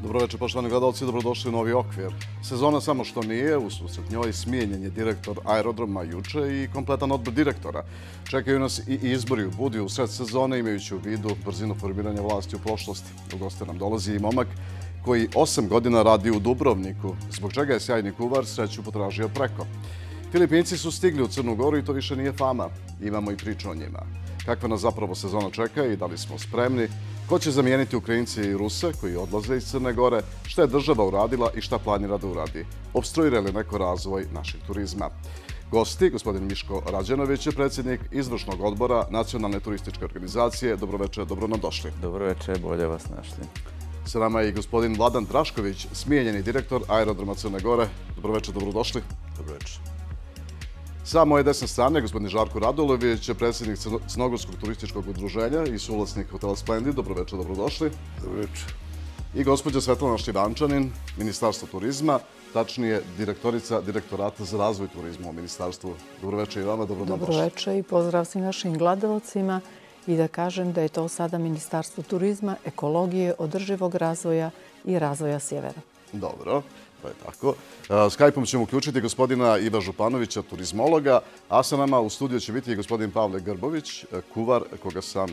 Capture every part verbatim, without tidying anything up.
Dobro večer, poštovani gledalci, dobrodošli u Novi okvir. Sezona samo što nije, ususret njoj smijenjen je direktor aerodroma juče i kompletan odbor direktora. Čekaju nas i izbori u Budvi u sred sezone, imajući u vidu brzinu formiranja vlasti u prošlosti. U goste nam dolazi i momak koji osam godina radi u Dubrovniku, zbog čega je sjajni kuvar sreću potražio preko. Filipinci su stigli u Crnu Goru i to više nije fama. Imamo i priču o njima. Kakva nas zapravo sezona čeka i da li smo spremni? Ko će zamijeniti Ukrajinci i Ruse koji odlaze iz Crne Gore? Šta je država uradila i šta planira da uradi? Obstruira li neko razvoj našeg turizma? Gosti, gospodin Miško Rađenović je predsjednik izvršnog odbora Nacionalne turističke organizacije. Dobroveče, dobro nam došli. Dobroveče, bolje vas našli. Sa nama je i gospodin Vladan Drašković, smijenjeni direktor aerodroma Crne Gore. Dobroveče, dobrodošli. Dobroveče. Sa moje desne strane, gospodin Žarko Radulović, predsjednik Crnogorskog turističkog udruženja i suvlasnik hotela Splendid. Dobroveče, dobrodošli. Dobroveče. I gospođa Svetlana Štivančanin, Ministarstvo turizma, tačnije direktorica Direktorata za razvoj turizma u Ministarstvu. Dobroveče i vama, dobro nam došli. Dobroveče i pozdrav svim našim gledalcima i da kažem da je to sada Ministarstvo turizma, ekologije, održivog razvoja i razvoja sjevera. Dobro. To je tako. Skype-om ćemo uključiti gospodina Iva Županovića, turizmologa, a sa nama u studiju će biti i gospodin Pavle Grbović, kuvar koga sam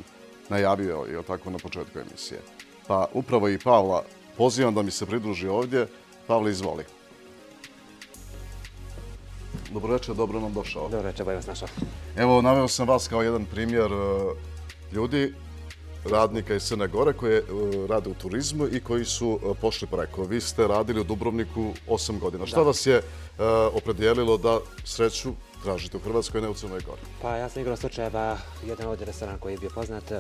najavio i tako na početku emisije. Pa upravo i Pavla pozivam da mi se pridruži ovdje. Pavle, izvoli. Dobroveče, dobro nam došao. Dobroveče, bolje vas našao. Evo, naveo sam vas kao jedan primjer ljudi, radnika iz Crne Gore koji rade u turizmu i koji su pošli preko. Vi ste radili u Dubrovniku osam godina. Šta vas je opredijelilo da sreću tražite u Hrvatskoj, ne u Crnoj Gori? Pa ja sam igrao slučajeva, jedan ovdje restoran koji je bio poznat,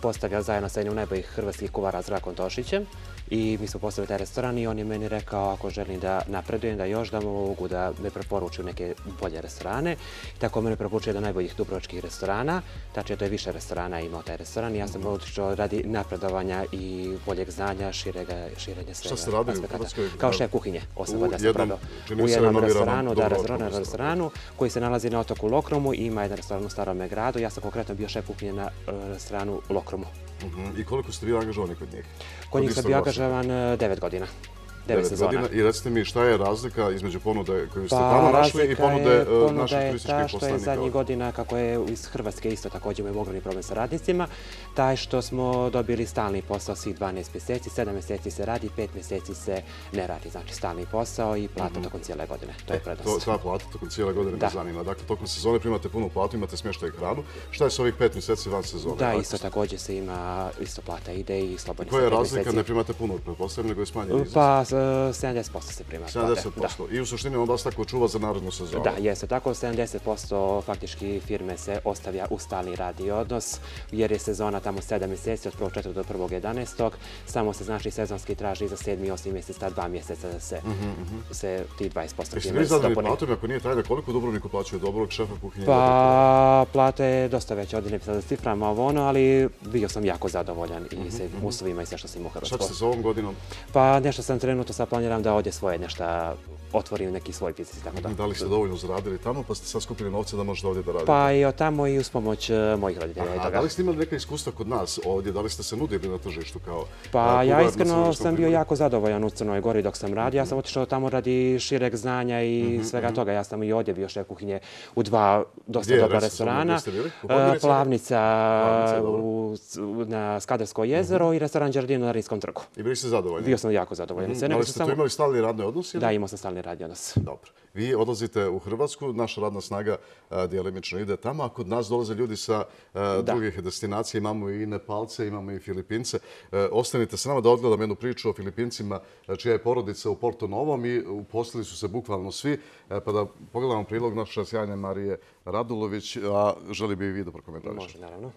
postavlja zajedno sa jednim najboljih hrvatskih kuvara Zdravkom Tošićem i mi smo postavili taj restoran i on je meni rekao ako želim da napredujem, da još da mogu da me preporuču neke bolje restorane. Tako mene preporučuje jedan najboljih dubrovačkih restorana, tačnije to je više restorana imao taj restoran i ja sam otišao radi napredovanja i boljeg znanja, širenja svega. Šta ste radili u Hrvatskoj? Kao šef kuhinje, osam godina sam prodao. U jednom restoranu, da, restoranu koji se nalazi na otoku Lokromu i ima jedan restoran u Starome gradu. Ja sam konkretno bio šef kuhinje na restoranu Lokromu. I koliko ste bili angažovani kod njih? Kod njih sam bio angažovan devet godina. devet sezona. I recite mi šta je razlika između ponude koju ste tamo našli i ponude naših turističkih poslovnika? Što je ta što je zadnjih godina, kako je iz Hrvatske isto također imamo ogromni problem sa radnicima, taj što smo dobili stalni posao svih dvanaest mjeseci, sedam mjeseci se radi, pet mjeseci se ne radi. Znači stalni posao i plata tokom cijele godine. To je prednost. Ta plata tokom cijele godine me zanima. Dakle, tokom sezone primate punu platu, imate smještaj i hranu. Šta je s ovih pet mjeseci van sezone? Da, isto također se ima, isto plata ide i slobodni koja je razlika? Ne primate puno, pretpostavljam, nego je smanjen iznos? Pa sedamdeset posto se prima. sedamdeset posto. I u suštini on vas tako čuva za narednu sezonu? Da, jeste tako. sedamdeset posto faktički firme se ostavlja u stalni radni odnos, jer je sezona tamo sedam mjeseci, od prvog četvrtog do prvog jedanaestog. Samo se znači sezonski traži za sedmi i osmi mjesec, ta dva mjeseca da se, se ti dvadeset posto firme dopuni. Jeste vi zadali platom, ako nije tajna, koliko u Dubrovniku plaćaju dobrog šefa kuhinje? Pa, plata je dosta veća, ovdje ne bi sad da ciframa ovo ono, ali bio sam jako zadovoljan i sa uslovima i sve što sam imao u Hrvatskoj. Šta ćete sa ovom godinom? Pa, nešto sam trenutno sad planiram da ovdje svoje nešto otvorim neki svoj biznis i tako da. Da li ste dovoljno zaradili tamo pa ste sad skupili novce da možete ovdje da radite? Pa i od tamo i uz pomoć mojih roditelja. A da li ste imali neka iskustva kod nas ovdje? Da li ste se nudili na tržištu kao... Pa ja iskreno sam bio jako zadovoljan u Crnoj Gori dok sam radio. Ja sam otišao tamo radi šireg znanja i svega toga. Ja sam i ovdje bio šef kuhinje u dva dosta dobra restorana. Plavnica na Skadarsko jezero i restoran Đardino na Rinskom trgu. I bili ste zadovoljni? Bio sam jako zadovoljan. Da li ste tu imali stalni radni odnos? Da, imao sam stalni radni odnos. Dobro. Vi odlazite u Hrvatsku, naša radna snaga djelimično ide tamo, a kod nas dolaze ljudi sa drugih destinacija, imamo i Nepalce, imamo i Filipince. Ostanite s nama da odgledam jednu priču o Filipincima čija je porodica u Porto Novom i uposlili su se bukvalno svi, pa da pogledamo prilog naše sjajne Marije Radulović, a želi bi i vi da prokomentarišete. Može, naravno.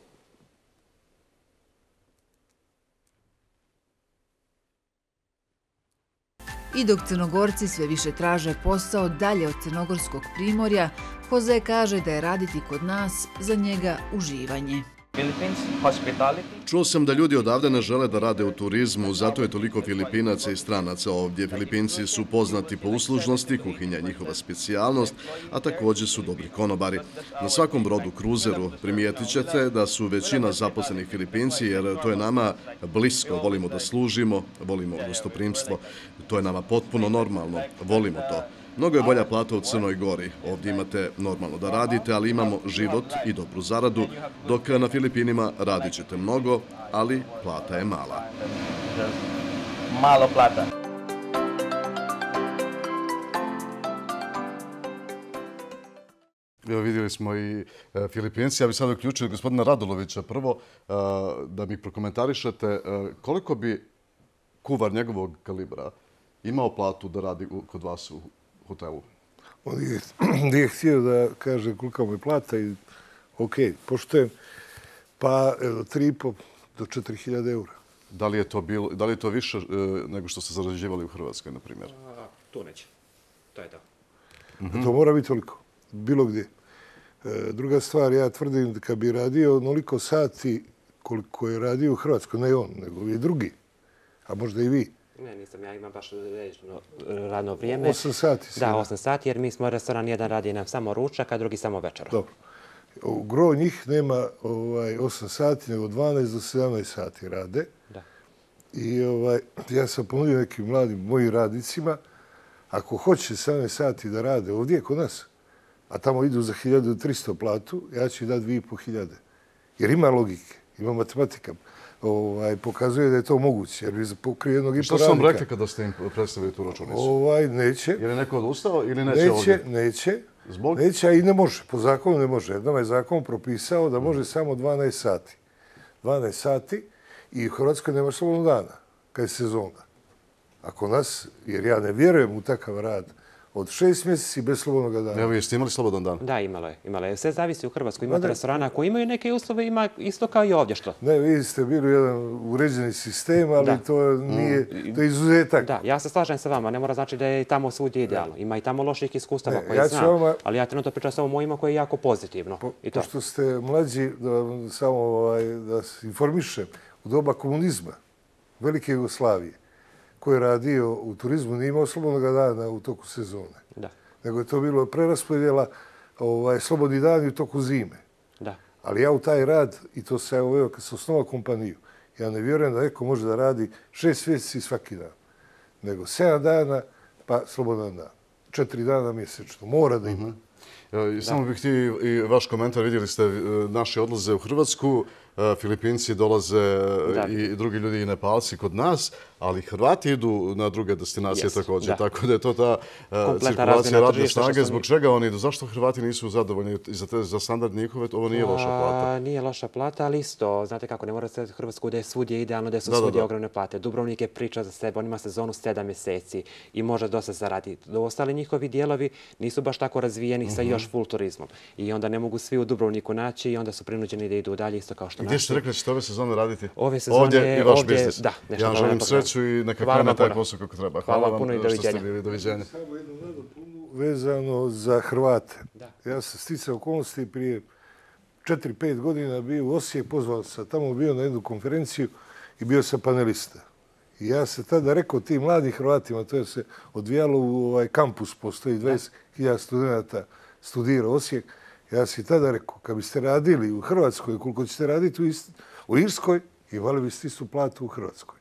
I dok Crnogorci sve više traže posao dalje od crnogorskog primorja, Jose kaže da je raditi kod nas za njega uživanje. Čuo sam da ljudi odavde ne žele da rade u turizmu, zato je toliko Filipinaca i stranaca ovdje. Filipinci su poznati po uslužnosti, kuhinja je njihova specijalnost, a također su dobri konobari. Na svakom brodu, kruzeru, primijetit ćete da su većina zaposlenih Filipinci, jer to je nama blisko, volimo da služimo, volimo gostoprimstvo. To je nama potpuno normalno, volimo to. Mnogo je bolja plata u Crnoj Gori. Ovdje imate normalno da radite, ali imamo život i dobru zaradu, dok na Filipinima radit ćete mnogo, ali plata je mala. Malo plata. Evo, vidjeli smo i e, Filipinci. Ja bih sad uključio gospodina Radulovića prvo e, da mi prokomentarišete e, koliko bi kuvar njegovog kalibra imao platu da radi u, kod vas u hotelu. On je, je htio da kaže kolika mu je plata i ok, poštujem, pa tri i po do četiri hiljade eura. Da li je to, bilo, da li je to više e, nego što ste zarađivali u Hrvatskoj, na primjer? Tu neće. To je to. Mm-hmm. To mora biti toliko, bilo gdje. E, druga stvar, ja tvrdim da kad bi radio onoliko sati koliko je radio u Hrvatskoj, ne on, nego i drugi, a možda i vi. Ne, nisam, ja imam baš režno radno vrijeme. Osam sati. Da, osam sati, jer mi smo restoran, jedan radi nam samo ručak, a drugi samo večera. Dobro. Gro njih nema ovaj, osam sati, nego dvanaest do sedamnaest sati rade. Da. I ovaj, ja sam ponudio nekim mladim mojim radnicima, ako hoće sedamnaest sati da rade ovdje kod nas, a tamo idu za hiljadu tristo platu, ja ću dati dvije i pol hiljade. Jer ima logike, ima matematika. Ovaj, pokazuje da je to moguće, jer bi pokrije jednog i po radnika. Što su vam rekli kada ste im predstavili tu računicu? Ovaj, neće. Je li neko odustao ili neće, neće ovdje? Neće, Zbog? neće, a i ne može. Po zakonu ne može. Jednom je zakon propisao da može samo dvanaest sati. dvanaest sati i u Hrvatskoj nema slobodnog dana, kad je sezona. Ako nas, jer ja ne vjerujem u takav rad, od šest mjeseci bez slobodnog dana. Evo, jeste imali slobodan dan? Da, imalo je. Imalo je. Sve zavisi u Hrvatskoj. Imate restorana koji imaju neke uslove, ima isto kao i ovdje što. Ne, vi ste bili jedan uređeni sistem, ali da. to nije, to je izuzetak. Da, ja se slažem sa vama. Ne mora znači da je tamo svudje idealno. Ima i tamo loših iskustava koje ja znam. Vama, ali ja trenutno pričam samo mojima koji je jako pozitivno. Po, I to. Pošto ste mlađi, da vam samo ovaj, da se informišem, u doba komunizma, Velike Jugoslavije, koji je radio u turizmu, nije imao slobodnog dana u toku sezone. Da. Nego je to bilo preraspodjela ovaj, slobodni dan u toku zime. Da. Ali ja u taj rad, i to se evo, kad sam osnovao kompaniju, ja ne vjerujem da neko može da radi šest mjeseci svaki dan. Nego sedam dana, pa slobodan dan. Četiri dana mjesečno. Mora da ima. Mm-hmm. Samo bih htio i vaš komentar. Vidjeli ste naše odlaze u Hrvatsku. Filipinci dolaze da. I drugi ljudi i Nepalci kod nas, ali Hrvati idu na druge destinacije yes, također. Da. Tako da je to ta Kompletna cirkulacija radne snage. Zbog čega oni idu? Zašto Hrvati nisu zadovoljni za, te, za standard njihove? Ovo nije loša plata. A, nije loša plata, ali isto. Znate kako, ne mora se Hrvatsku da je svudje idealno, da su da, svudje da, da. ogromne plate. Dubrovnik je priča za sebe, on ima sezonu sedam mjeseci i može dosta zaraditi. Ostali njihovi dijelovi nisu baš tako razvijeni mm-hmm. sa još full turizmom. I onda ne mogu svi u Dubrovniku naći i onda su prinuđeni da idu dalje isto kao što gdje ste rekli da ćete ove sezone raditi? Ove sezone ovdje i vaš ovdje, biznis. Da, ja želim sreću i neka krene taj posao kako treba. Hvala, Hvala vam puno i doviđenja. Što ste bili. Doviđenja. Samo jednu nadopunu vezano za Hrvate. Da. Ja sam sticao okolnosti prije četiri pet godina bio u Osijek, pozvao sam tamo bio na jednu konferenciju i bio sam panelista. I ja sam tada rekao tim mladim Hrvatima, to je se odvijalo u ovaj kampus, postoji dvadeset hiljada studenta studira Osijek. Ja sam tada rekao, kad biste radili u Hrvatskoj, koliko ćete raditi u, ist, u Irskoj, imali biste istu platu u Hrvatskoj.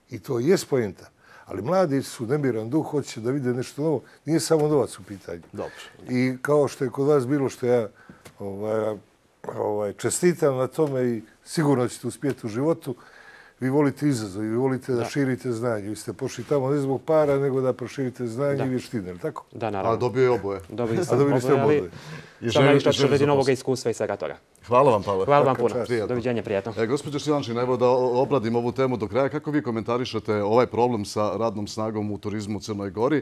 I to je poenta. Ali mladi su nemiran duh, hoće da vide nešto novo. Nije samo novac u pitanju. Dobro. I kao što je kod vas bilo što ja ovaj, ovaj, čestitam na tome i sigurno ćete uspjeti u životu, vi volite izazov i vi volite da, da širite znanje. Vi ste pošli tamo ne zbog para, nego da proširite znanje da. I vještine, ili tako? Da, naravno. A dobio je oboje. Dobili sam oboje, ste oboje. Samo nešto radi novog iskustva i svega toga. Hvala vam, Pavle. Hvala vam puno. Doviđenja, prijatno. E, gospođo Šilančin, evo da obradim ovu temu do kraja. Kako vi komentarišete ovaj problem sa radnom snagom u turizmu u Crnoj Gori?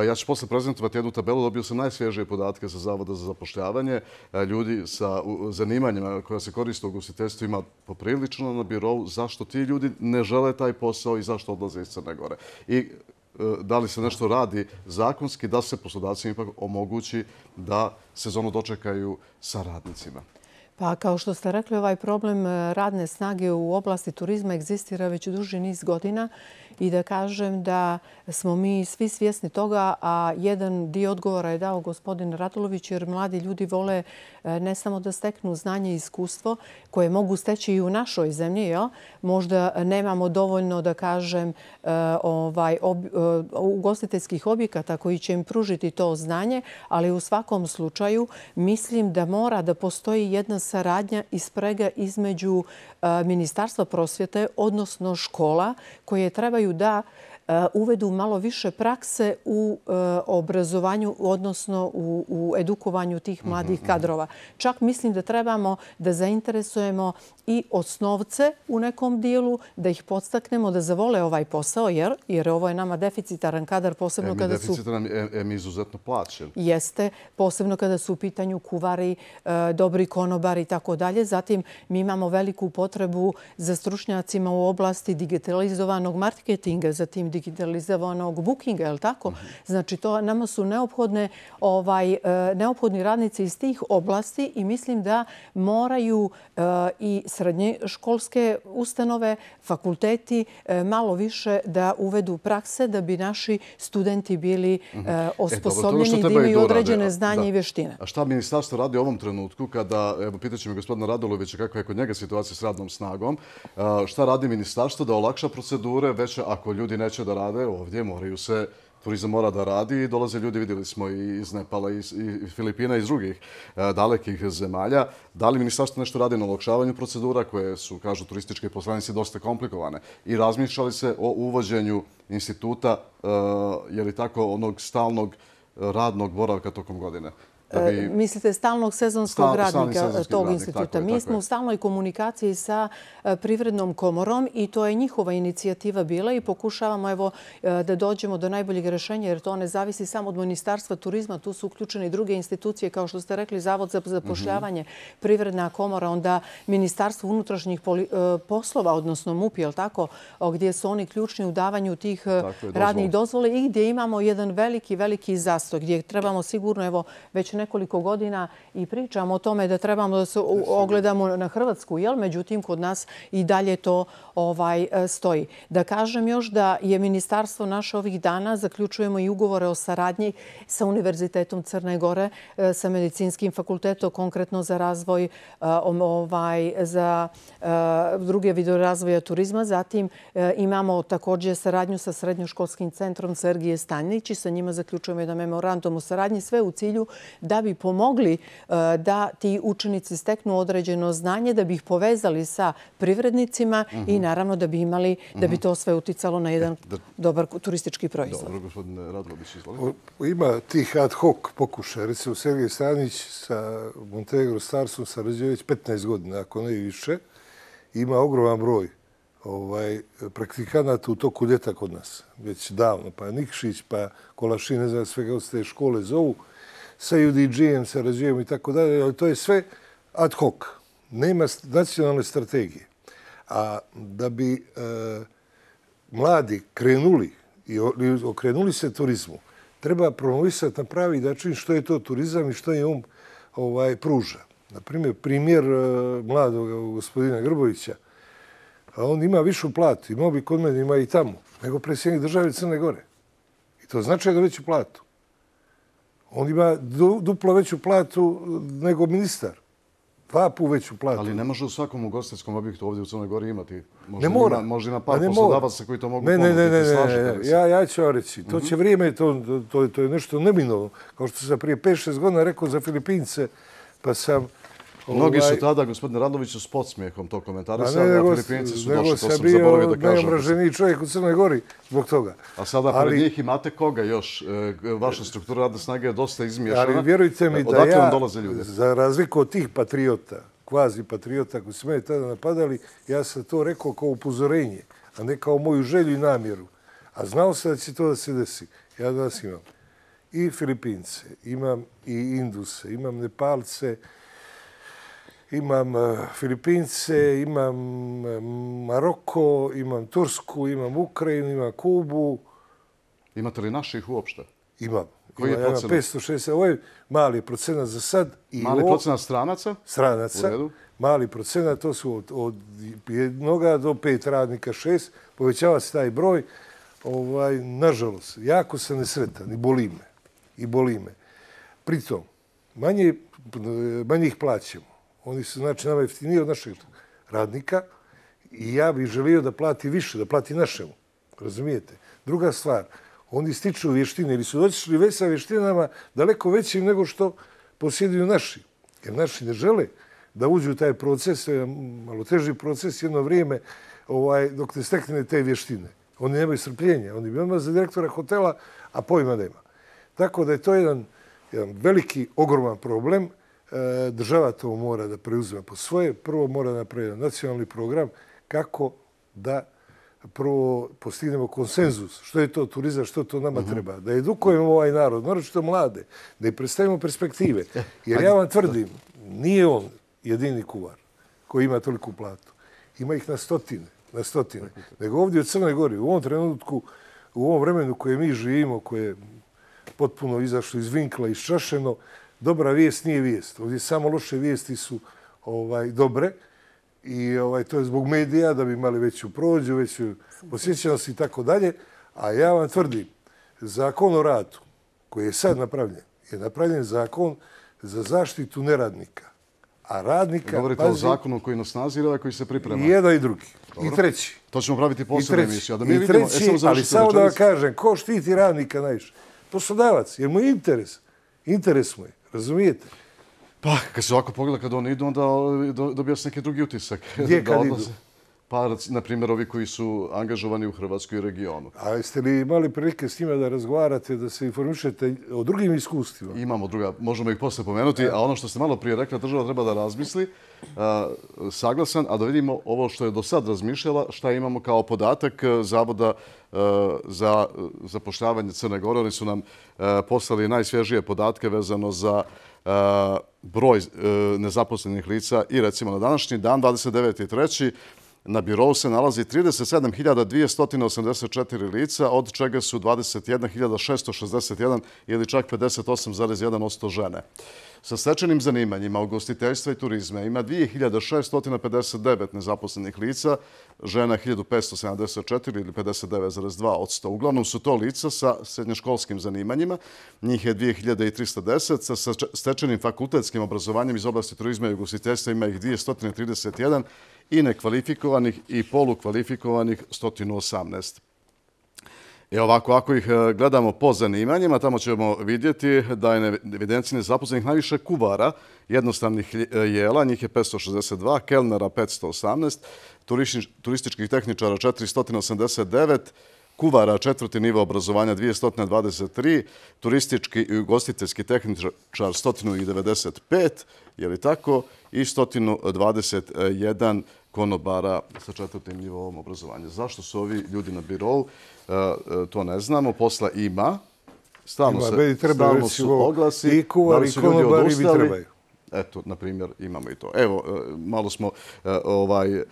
Ja ću posle prezentovati jednu tabelu. Dobio sam najsvježije podatke sa Zavoda za zapošljavanje. Ljudi sa zanimanjima koja se koriste u ugostiteljstvu ima poprilično na birovu. Zašto ti ljudi ne žele taj posao i zašto odlaze iz Crne Gore? I da li se nešto radi zakonski da se poslodavcima ipak omogući da sezonu dočekaju sa radnicima? Pa kao što ste rekli, ovaj problem radne snage u oblasti turizma egzistira već duži niz godina i da kažem da smo mi svi svjesni toga, a jedan dio odgovora je dao gospodin Radulović, jer mladi ljudi vole ne samo da steknu znanje i iskustvo koje mogu steći i u našoj zemlji. Jel? Možda nemamo dovoljno, da kažem, ovaj, ob, ugostiteljskih objekata koji će im pružiti to znanje, ali u svakom slučaju mislim da mora da postoji jedna saradnja i sprega između Ministarstva prosvjete, odnosno škola, koje trebaju da uvedu malo više prakse u obrazovanju, odnosno u, u edukovanju tih mladih kadrova. Čak mislim da trebamo da zainteresujemo i osnovce u nekom dijelu, da ih podstaknemo da zavole ovaj posao, jer, jer ovo je nama deficitaran kadar, posebno e, kada su... Deficitaran je mi izuzetno plaćen. Jeste, posebno kada su u pitanju kuvari, dobri konobari i tako dalje. Zatim mi imamo veliku potrebu za stručnjacima u oblasti digitalizovanog marketinga, zatim digitalizovanog bookinga, je li tako? Znači, to nama su neophodne, ovaj, neophodni radnici iz tih oblasti i mislim da moraju i srednje školske ustanove, fakulteti malo više da uvedu prakse da bi naši studenti bili osposobljeni i da imaju određene znanje i vještine. A šta ministarstvo radi u ovom trenutku kada, evo, pitaću me gospodina Radulovića kakva je kod njega situacija s radnom snagom, šta radi ministarstvo da olakša procedure, već ako ljudi neće da rade ovdje, moraju se, turizam mora da radi i dolaze ljudi, vidjeli smo i iz Nepala, i Filipina i iz drugih dalekih zemalja. Da li ministarstvo nešto radi na olakšavanju procedura koje su, kažu turističke poslanice, dosta komplikovane? I razmišljali se o uvođenju instituta, je li tako, onog stalnog radnog boravka tokom godine? Bi... Mislite stalnog sezonskog Stal, radnika sezonski tog radnik, instituta. Je, Mi smo je. u stalnoj komunikaciji sa Privrednom komorom i to je njihova inicijativa bila i pokušavamo evo, da dođemo do najboljeg rješenja, jer to ne zavisi samo od Ministarstva turizma. Tu su uključene i druge institucije, kao što ste rekli, Zavod za zapošljavanje, mm-hmm. Privredna komora, onda Ministarstvo unutrašnjih poli, poslova, odnosno M U P, je li tako, gdje su oni ključni u davanju tih je, radnih dozvole i gdje imamo jedan veliki, veliki zastoj, gdje trebamo sigurno, evo, već nekoliko godina i pričamo o tome da trebamo da se ogledamo na Hrvatsku, jel? Međutim, kod nas i dalje to ovaj, stoji. Da kažem još da je ministarstvo naše ovih dana, zaključujemo i ugovore o saradnji sa Univerzitetom Crne Gore, sa Medicinskim fakultetom, konkretno za razvoj, ovaj, za druge vidove razvoja turizma. Zatim imamo također saradnju sa Srednjoškolskim centrom Sergije Stanjić i sa njima zaključujemo jedan memorandum o saradnji, sve u cilju da bi pomogli da ti učenici steknu određeno znanje, da bi ih povezali sa privrednicima mm-hmm. i naravno da bi imali, mm-hmm. da bi to sve uticalo na jedan da... dobar turistički proizvod. Dobro, gospodine Radulović, izvolite. Ima tih ad hoc pokušaja. Recimo, Sergej Stanić sa Montenegro Starsom sarađuje već petnaest godina, ako ne i više. Ima ogroman broj ovaj, praktikanata u toku ljeta kod nas. Već davno. Pa Nikšić, pa Kolašin, ne znam svega od te škole zovu. Sa U D G-em sarađujemo i tako dalje, ali to je sve ad hoc. Nema nacionalne strategije. A da bi e, mladi krenuli i okrenuli se turizmu, treba promovisati na pravi način što je to turizam i što je on ovaj, pruža. Naprimjer, primjer e, mladog gospodina Grbovića, a on ima višu platu, imao bi kod mene, ima i tamo, nego predsjednik države Crne Gore. I to znači da veću platu. On ima duplo veću platu nego ministar. Dva pu veću platu. Ali ne može u svakom ugostiteljskom objektu ovdje u Crnoj Gori imati. Možda ne mora. Ima, možda ima par poslodavaca koji to mogu ne, ponuditi. Ne, ne, ne, ne. Ja, ja ću vam reći. To će vrijeme, to, to, to je nešto neminovno. Kao što sam prije pet šest godina rekao za Filipince, pa sam... Mnogi su tada, gospodine Raduloviću, s podsmijehom to komentarisali, a Filipinci su došli, to sam zaboravio da kažem. Nego sam bio najomraženiji čovjek u Crnoj Gori zbog toga. A sada pred ali, njih imate koga još? Vaša struktura radne snage je dosta izmiješana. Ali vjerujte mi da ja, za razliku od tih patriota, kvazi patriota koji su mene tada napadali, ja sam to rekao kao upozorenje, a ne kao moju želju i namjeru. A znao sam da će to da se desi. Ja danas imam i Filipince, imam i Induse, imam Nepalce, imam Filipince, imam Maroko, imam Tursku, imam Ukrajinu, imam Kubu. Imate li naših uopšte? Imam. Koji je procenat? petsto šezdeset, ovo je mali procenat za sad. Mali procenat stranaca? Stranaca. Mali procenat, to su od, od jednoga do pet radnika, šest. Povećava se taj broj. Ovaj, nažalost, jako sam nesretan i boli me. I boli me. Pritom, manje, manje ih plaćamo. Oni su, znači, nama jeftiniji od našeg radnika i ja bih želio da plati više, da plati našemu. Razumijete? Druga stvar, oni stiču vještine ili su došli već sa vještinama daleko većim nego što posjeduju naši. Jer naši ne žele da uđu u taj proces, to je malo teži proces jedno vrijeme ovaj, dok ne stekne te vještine. Oni nemaju strpljenja. Oni bi odmah za direktora hotela, a pojma nema. Tako da je to jedan, jedan veliki, ogroman problem. E, država to mora da preuzme po svoje. Prvo mora napraviti nacionalni program kako da prvo postignemo konsenzus. Što je to turizam, što to nama uh-huh. treba. Da edukujemo ovaj narod, naročito mlade, da im predstavimo perspektive. Jer ja vam tvrdim, nije on jedini kuvar koji ima toliku platu. Ima ih na stotine. na stotine. Nego ovdje u Crnoj Gori, u ovom trenutku, u ovom vremenu koje mi živimo, koje je potpuno izašlo iz vinkla, iščašeno, dobra vijest nije vijest. Ovdje samo loše vijesti su ovaj, dobre i ovaj, to je zbog medija da bi imali veću prođu, veću posjećenost i tako dalje. A ja vam tvrdim, zakon o radu koji je sad napravljen, je napravljen zakon za zaštitu neradnika. A radnika... Govorite pazi, o zakonu koji nas snazi ili ovaj koji se priprema? I jedan i drugi. Dobro. I treći. To ćemo praviti posebnu emisiju. Da mi I vidimo, treći, e, samo ali samo da vam kažem, ko štiti radnika najviše? Poslodavac, jer mu je interes. Interes mu je, razumijete? Pa, kad se ovako pogleda, kad oni idu, onda dobija se neki drugi utisak. Gdje kad idu? Pa, na primjer, ovi koji su angažovani u Hrvatskoj regionu. A jeste li imali prilike s njima da razgovarate, da se informišete o drugim iskustvima? Imamo druga, možemo ih posle pomenuti, a ono što ste malo prije rekla, država treba da razmisli, uh, saglasan, a da vidimo ovo što je do sad razmišljala, šta imamo kao podatak Zavoda uh, za zapošljavanje Crne Gore. Oni su nam uh, poslali najsvježije podatke vezano za uh, broj uh, nezaposlenih lica i recimo na današnji dan, dvadeset deveti treći na birou se nalazi trideset sedam hiljada dvjesto osamdeset četiri lica, od čega su dvadeset jedna hiljada šesto šezdeset jedan ili čak pedeset osam zarez jedan posto žene. Sa stečenim zanimanjima ugostiteljstva i turizma ima dvije hiljade šesto pedeset devet nezaposlenih lica, žena hiljadu petsto sedamdeset četiri ili pedeset devet zarez dva posto. Uglavnom su to lica sa srednjoškolskim zanimanjima, njih je dvije hiljade tristo deset, sa stečenim fakultetskim obrazovanjem iz oblasti turizma i ugostiteljstva ima ih dvjesto trideset jedan i nekvalifikovanih i polukvalifikovanih sto osamnaest. I ovako, ako ih gledamo po zanimanjima, tamo ćemo vidjeti da je na evidenciji nezaposlenih najviše kuvara, jednostavnih jela, njih je petsto šezdeset dva, kelnera petsto osamnaest, turističkih tehničara četiristo osamdeset devet, kuvara četvrti nivo obrazovanja dvjesto dvadeset tri, turistički i ugostiteljski tehničar sto devedeset pet, je li tako, i sto dvadeset jedan konobara sa četvrtim nivom obrazovanja. Zašto su ovi ljudi na birou? To ne znamo. Posla ima. Stalno, ima, se, stalno su oglasi. I kuvari, i konobari bi trebaju. Eto, na primjer, imamo i to. Evo, malo smo ovaj,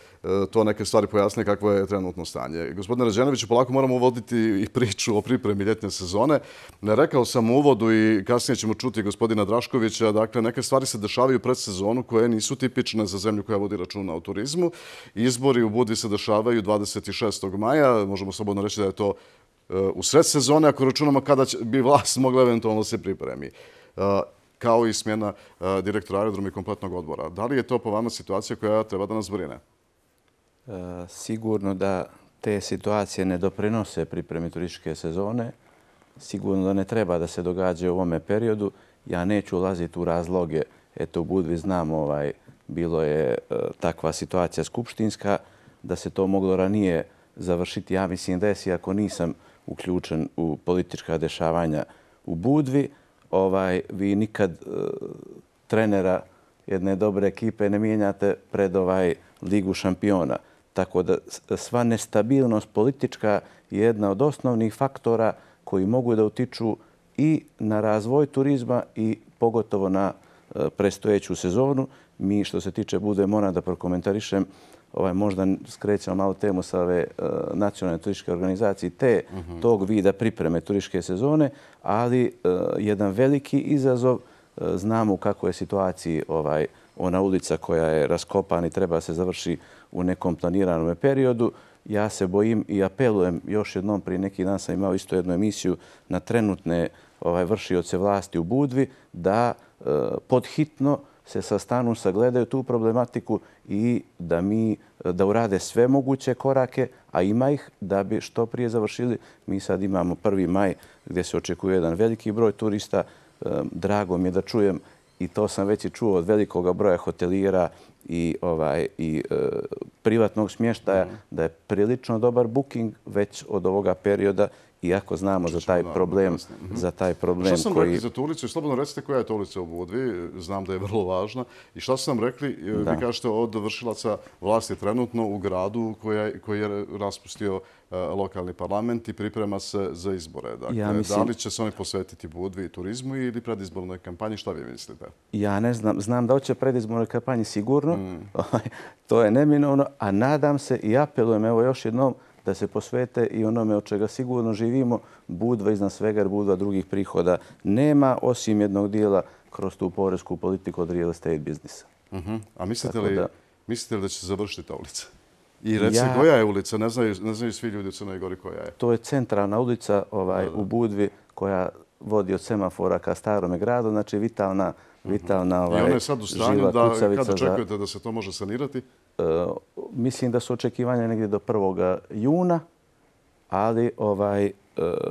to neke stvari pojasnili kakvo je trenutno stanje. Gospodine Rađenoviću, polako moramo uvoditi i priču o pripremi ljetne sezone. Rekao sam u uvodu i kasnije ćemo čuti gospodina Draškovića. Dakle, neke stvari se dešavaju pred sezonu koje nisu tipične za zemlju koja vodi računa o turizmu. Izbori u Budvi se dešavaju dvadeset šestog maja. Možemo slobodno reći da je to u sred sezone, ako računamo kada bi vlast mogla eventualno se pripremi. Kao i smjena direktora aerodroma i kompletnog odbora. Da li je to po vama situacija koja treba da nas brine? E, sigurno da te situacije ne doprinose pripremi turističke sezone. Sigurno da ne treba da se događa u ovome periodu. Ja neću ulaziti u razloge. Eto, u Budvi znam, ovaj, bilo je e, takva situacija skupštinska, da se to moglo ranije završiti. Ja mislim da je, ako nisam uključen u politička dešavanja u Budvi, Ovaj, vi nikad uh, trenera jedne dobre ekipe ne mijenjate pred ovaj Ligu šampiona. Tako da sva nestabilnost politička je jedna od osnovnih faktora koji mogu da utiču i na razvoj turizma i pogotovo na uh, predstojeću sezonu. Mi, što se tiče Budve, moram da prokomentarišem, možda skrećemo malo temu sa ove nacionalne turističke organizacije, te tog vida pripreme turističke sezone, ali jedan veliki izazov, znamo u kakvoj je situaciji ona ulica koja je raskopana i treba se završi u nekom planiranom periodu. Ja se bojim i apelujem još jednom, prije neki dan sam imao isto jednu emisiju na trenutne vršioce vlasti u Budvi, da podhitno se sastanu, sagledaju tu problematiku i da mi da urade sve moguće korake, a ima ih, da bi što prije završili. Mi sad imamo prvi maj gdje se očekuje jedan veliki broj turista. Drago mi je da čujem, i to sam već i čuo od velikoga broja hotelijera i privatnog smještaja, da je prilično dobar booking već od ovoga perioda, iako znamo za taj problem, za taj problem koji... Šta sam rekli za tu ulicu? Slobodno recite koja je to ulica u Budvi. Znam da je vrlo važna. I šta sam rekli? Vi kažete od vršilaca vlasti trenutno u gradu koji je raspustio lokalni parlament i priprema se za izbore. Dakle, da li će se oni posvetiti Budvi i turizmu ili predizbornoj kampanji? Šta vi mislite? Ja ne znam. Znam da hoće predizbornoj kampanji sigurno. To je neminovno. A nadam se i apelujem, evo još jednom, da se posvete i onome od čega sigurno živimo, Budva iznad svega, jer Budva drugih prihoda nema, osim jednog dijela kroz tu poresku politiku od real estate biznisa. A mislite li da će se završiti ta ulica? I reci koja je ulica, ne znaju svi ljudi u Crnoj Gori koja je. To je centralna ulica u Budvi koja vodi od semafora ka Starome gradu, znači vitalna vitalna žila kucavica. I ona je sad u stanju da, kada očekujete da se to može sanirati? Mislim da su očekivanja negdje do prvog juna, ali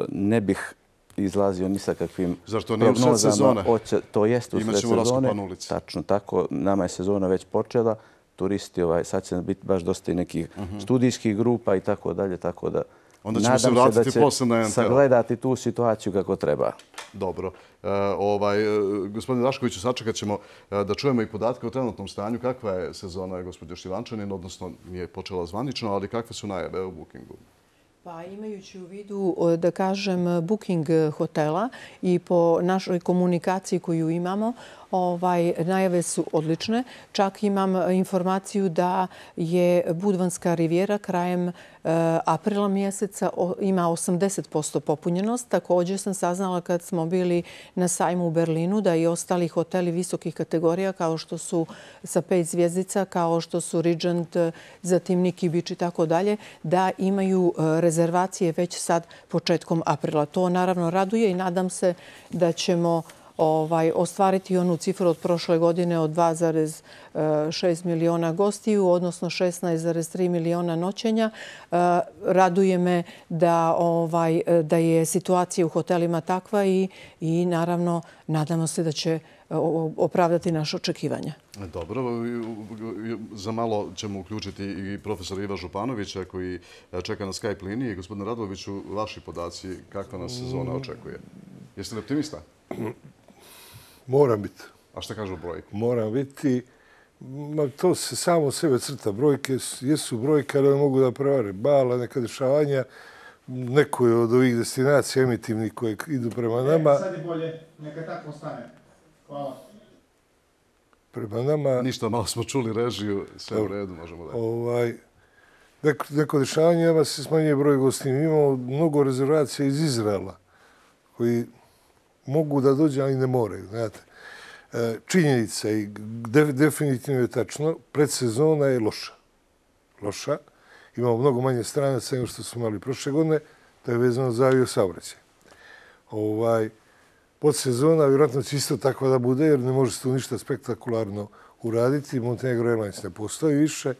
ne bih izlazio ni sa kakvim prognozama. Zar to nije u sred sezone? To jeste u sred sezone. Imaćemo raskopan ulici. Tačno tako. Nama je sezona već počela. Turisti, sad će biti baš dosta i nekih studijskih grupa i tako dalje, tako da onda ćemo se vratiti posle na N T L. Sagledati tu situaciju kako treba. Dobro. Gospodine Raškoviću, sačekat ćemo da čujemo i podatke o trenutnom stanju. Kakva je sezona, gospođo Šivančanin, odnosno nije počela zvanično, ali kakve su najave u bookingu? Pa imajući u vidu, da kažem, booking hotela i po našoj komunikaciji koju imamo, najave su odlične. Čak imam informaciju da je Budvanska rivijera krajem aprila mjeseca ima osamdeset posto popunjenost. Također sam saznala kad smo bili na sajmu u Berlinu da i ostali hoteli visokih kategorija kao što su sa pet zvjezdica, kao što su Regent, zatim Niki Beach i tako dalje, da imaju rezervacije već sad početkom aprila. To naravno raduje i nadam se da ćemo ostvariti onu cifru od prošle godine od dva zarez šest miliona gostiju, odnosno šesnaest zarez tri miliona noćenja. Raduje me da je situacija u hotelima takva i naravno nadamo se da će opravdati naše očekivanja. Dobro. Za malo ćemo uključiti i profesora Iva Županovića koji čeka na Skype liniji. Gospodine Radoviću, vaši podaci, kakva nas sezona očekuje? Jeste li optimista? Moram biti. A šta kažu brojke? Moram biti. To se samo sebe crta. Brojke jesu brojke, ali mogu da prevare bala, neka dešavanja. Neko je od ovih destinacija emitivnih koje idu prema nama. Sad je bolje. Neka tako ostane. Hvala. Prema nama... Ništa, malo smo čuli režiju. Sve u redu, možemo da... Neko dešavanje, nama se smanjuje broj gostiju. Imamo mnogo rezervacija iz Izraela koji mogu da dođe, ali ne moraju. Činjenica i definitivno je tačno, predsezona je loša. Loša. Imamo mnogo manje stranaca nego što smo imali prošle godine. To je vezano za aviosaobraćaj. Podsezona vjerojatno će isto tako da bude, jer ne može se tu ništa spektakularno uraditi. Montenegro Airlines ne postoji više,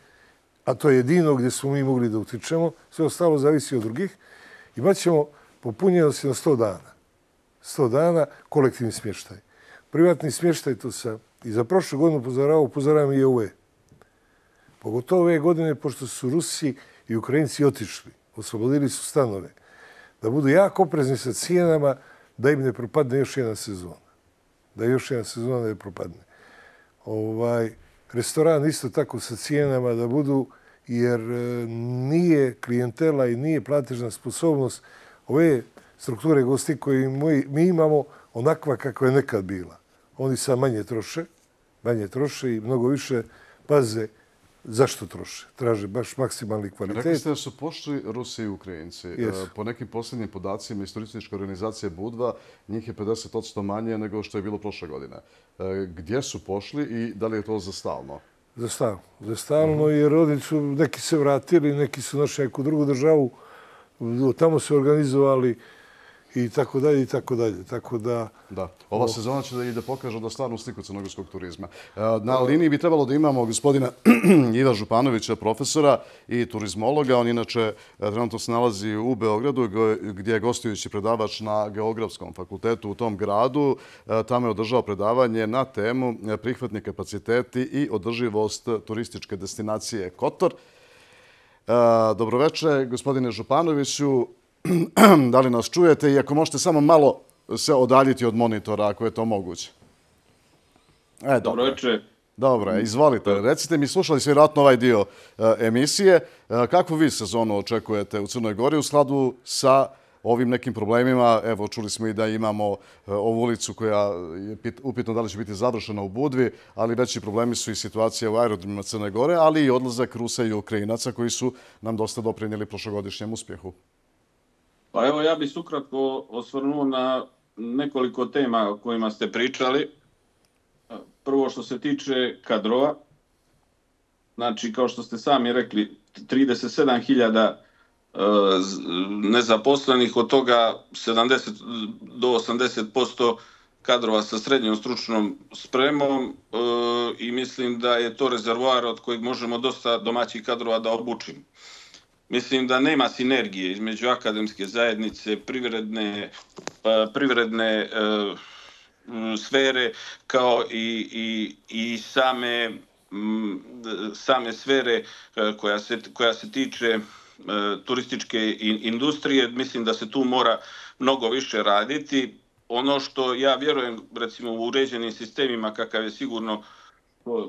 a to je jedino gdje smo mi mogli da utičemo. Sve ostalo zavisi od drugih. Imaćemo popunjenosti na sto dana. sto dana kolektivni smještaj. Privatni smještaj, to sam i za prošlu godinu upozoravao, upozoravam i ove. Pogotovo ove godine, pošto su Rusi i Ukrajinci otišli, oslobodili su stanove, da budu jako oprezni sa cijenama, da im ne propadne još jedna sezona. Da još jedna sezona ne propadne. Restoran isto tako sa cijenama da budu, jer nije klijentela i nije platežna sposobnost ove strukture gosti koje mi imamo onakva kakva je nekad bila. Oni sad manje troše, manje troše i mnogo više paze zašto troše? Traže baš maksimalni kvalitet. Rekli ste da su pošli Rusi i Ukrajinci. Po nekim posljednjim podacima iz turističke organizacije Budva, njih je pedeset posto manje nego što je bilo prošle godine. Gdje su pošli i da li je to za stalno? Za stalno. Za stalno, jer oni su, neki se vratili, neki su našli neku drugu državu, tamo se organizovali i tako dalje i tako dalje. Tako da... Da. Ova sezona će da i da pokaže da stvarnu sliku crnogorskog turizma. Na liniji bi trebalo da imamo gospodina Iva Županovića, profesora i turizmologa. On inače trenutno se nalazi u Beogradu gdje je gostujući predavač na Geografskom fakultetu u tom gradu. Tamo je održao predavanje na temu prihvatni kapaciteti i održivost turističke destinacije Kotor. Dobroveče, gospodine Županoviću. Da li nas čujete i ako možete samo malo se odaljiti od monitora, ako je to moguće. E, dobro večer. Dobro, izvolite. Recite mi, slušali ste vjerojatno ovaj dio emisije. Kakvu vi sezonu očekujete u Crnoj Gori u skladu sa ovim nekim problemima? Evo, čuli smo i da imamo ovu ulicu koja je upitno da li će biti završena u Budvi, ali veći problemi su i situacija u aerodromima Crne Gore, ali i odlazak Rusa i Ukrajinaca koji su nam dosta doprinijeli prošlogodišnjem uspjehu. Pa evo, ja bih se ukratko osvrnuo na nekoliko tema o kojima ste pričali. Prvo što se tiče kadrova. Znači, kao što ste sami rekli, trideset sedam hiljada nezaposlenih, od toga sedamdeset do osamdeset posto kadrova sa srednjom stručnom spremom i mislim da je to rezervoar od kojeg možemo dosta domaćih kadrova da obučimo. Mislim da nema sinergije između akademske zajednice, privredne, privredne sfere kao i, i, i same, same sfere koja se, koja se tiče turističke industrije. Mislim da se tu mora mnogo više raditi. Ono što ja vjerujem, recimo u uređenim sistemima kakav je sigurno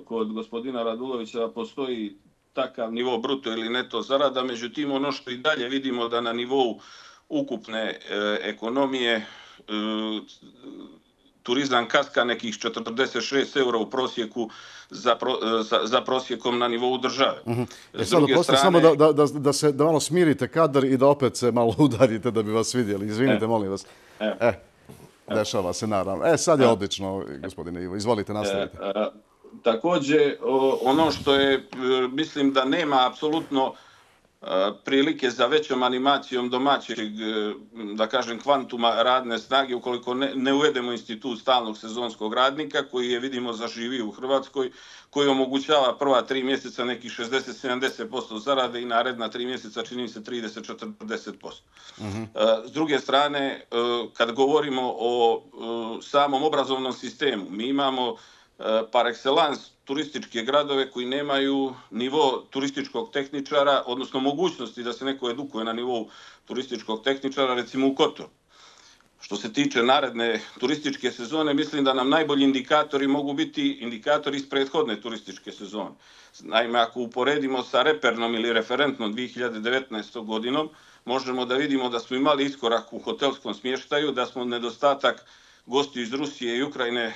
kod gospodina Radulovića, da postoji takav nivo bruto ili neto zarada, međutim ono što i dalje vidimo da na nivou ukupne e, ekonomije e, turizam kaska nekih četrdeset šest eura u prosjeku za, pro, za, za prosjekom na nivou države. Mm-hmm. E sad, strane... samo da, da, da, da, se, da malo smirite kadar i da opet se malo udarite da bi vas vidjeli. Izvinite, e, molim vas. E, e, dešava se, naravno. E, sad je e, odlično, gospodine Ivo. Izvolite, nastavite. E, e, Također, ono što je, mislim da nema apsolutno prilike za većom animacijom domaćeg, da kažem, kvantuma radne snage, ukoliko ne, ne uvedemo institut stalnog sezonskog radnika, koji je, vidimo, zaživio u Hrvatskoj, koji omogućava prva tri mjeseca nekih šezdeset do sedamdeset posto zarade i naredna tri mjeseca čini se trideset do četrdeset posto. Mm-hmm. S druge strane, kad govorimo o samom obrazovnom sistemu, mi imamo par excellence turističke gradove koji nemaju nivo turističkog tehničara, odnosno mogućnosti da se neko edukuje na nivou turističkog tehničara, recimo u Kotoru. Što se tiče naredne turističke sezone, mislim da nam najbolji indikatori mogu biti indikatori iz prethodne turističke sezone. Naime, ako uporedimo sa repernom ili referentnom dvije hiljade devetnaestom godinom, možemo da vidimo da smo imali iskorak u hotelskom smještaju, da smo nedostatak gostiju iz Rusije i Ukrajine e,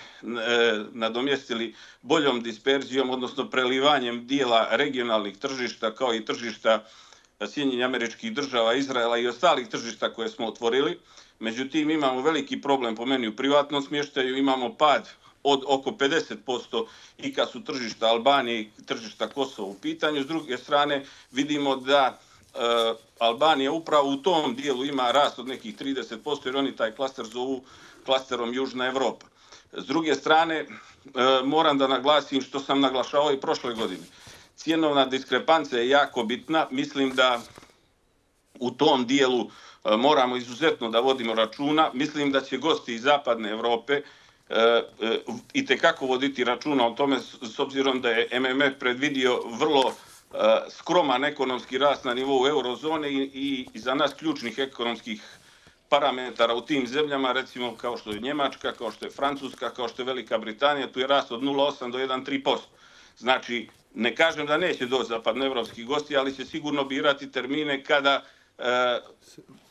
nadomjestili boljom disperzijom, odnosno prelivanjem dijela regionalnih tržišta kao i tržišta Sjedinjenih Američkih Država, Izraela i ostalih tržišta koje smo otvorili. Međutim, imamo veliki problem po meni u privatnom smještaju, imamo pad od oko pedeset posto i kad su tržišta Albanije i tržišta Kosova u pitanju. S druge strane, vidimo da e, Albanija upravo u tom dijelu ima rast od nekih trideset posto jer oni taj klaster zovu klasterom Južna Evropa. S druge strane, e, moram da naglasim što sam naglašavao i prošle godine. Cijenovna diskrepancija je jako bitna. Mislim da u tom dijelu e, moramo izuzetno da vodimo računa. Mislim da će gosti iz Zapadne Evrope e, e, itekako voditi računa o tome s obzirom da je M M F predvidio vrlo e, skroman ekonomski rast na nivou eurozone i, i, i za nas ključnih ekonomskih parametara u tim zemljama, recimo kao što je Njemačka, kao što je Francuska, kao što je Velika Britanija, tu je rast od nula zarez osam do jedan zarez tri posto. Znači, ne kažem da neće doći zapadnoevropski gosti, ali će sigurno birati termine kada, e,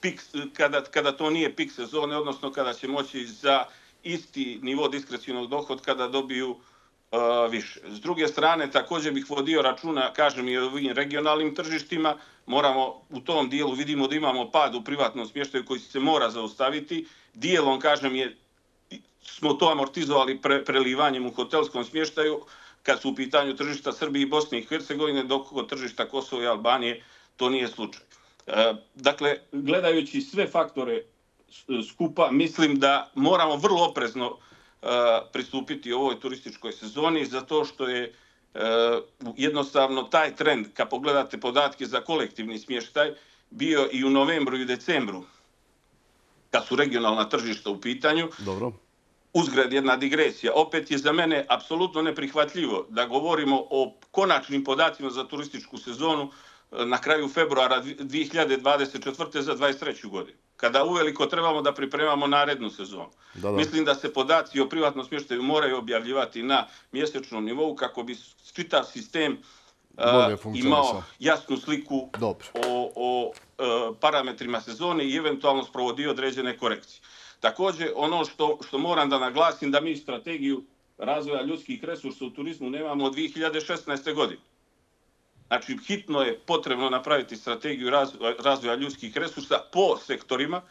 pik, kada, kada to nije pik sezone, odnosno kada će moći za isti nivo diskrecionog dohodka da dobiju više. S druge strane, također bih vodio računa, kažem, i o ovim regionalnim tržištima. Moramo u tom dijelu, vidimo da imamo pad u privatnom smještaju koji se mora zaustaviti. Dijelom, kažem, je, smo to amortizovali pre, prelivanjem u hotelskom smještaju kad su u pitanju tržišta Srbije i Bosne i Hercegovine, dok kod tržišta Kosova i Albanije to nije slučaj. E, dakle, gledajući sve faktore skupa, mislim da moramo vrlo oprezno pristupiti ovoj turističkoj sezoni, zato što je jednostavno taj trend, kad pogledate podatke za kolektivni smještaj, bio i u novembru i u decembru, kad su regionalna tržišta u pitanju. Dobro. Uzgred jedna digresija. Opet je za mene apsolutno neprihvatljivo da govorimo o konačnim podacima za turističku sezonu na kraju februara dvije hiljade dvadeset četvrte za dvadeset treću godinu. Kada uveliko trebamo da pripremamo narednu sezonu. Da, da. Mislim da se podaci o privatnom smještaju moraju objavljivati na mjesečnom nivou kako bi čitav sistem uh, imao jasnu sliku Dobro. o, o uh, parametrima sezone i eventualno sprovodio određene korekcije. Također, ono što, što moram da naglasim, da mi strategiju razvoja ljudskih resursa u turizmu nemamo od dvije hiljade šesnaeste. godine. Znači, hitno je potrebno napraviti strategiju razvoja ljudskih resursa po sektorima.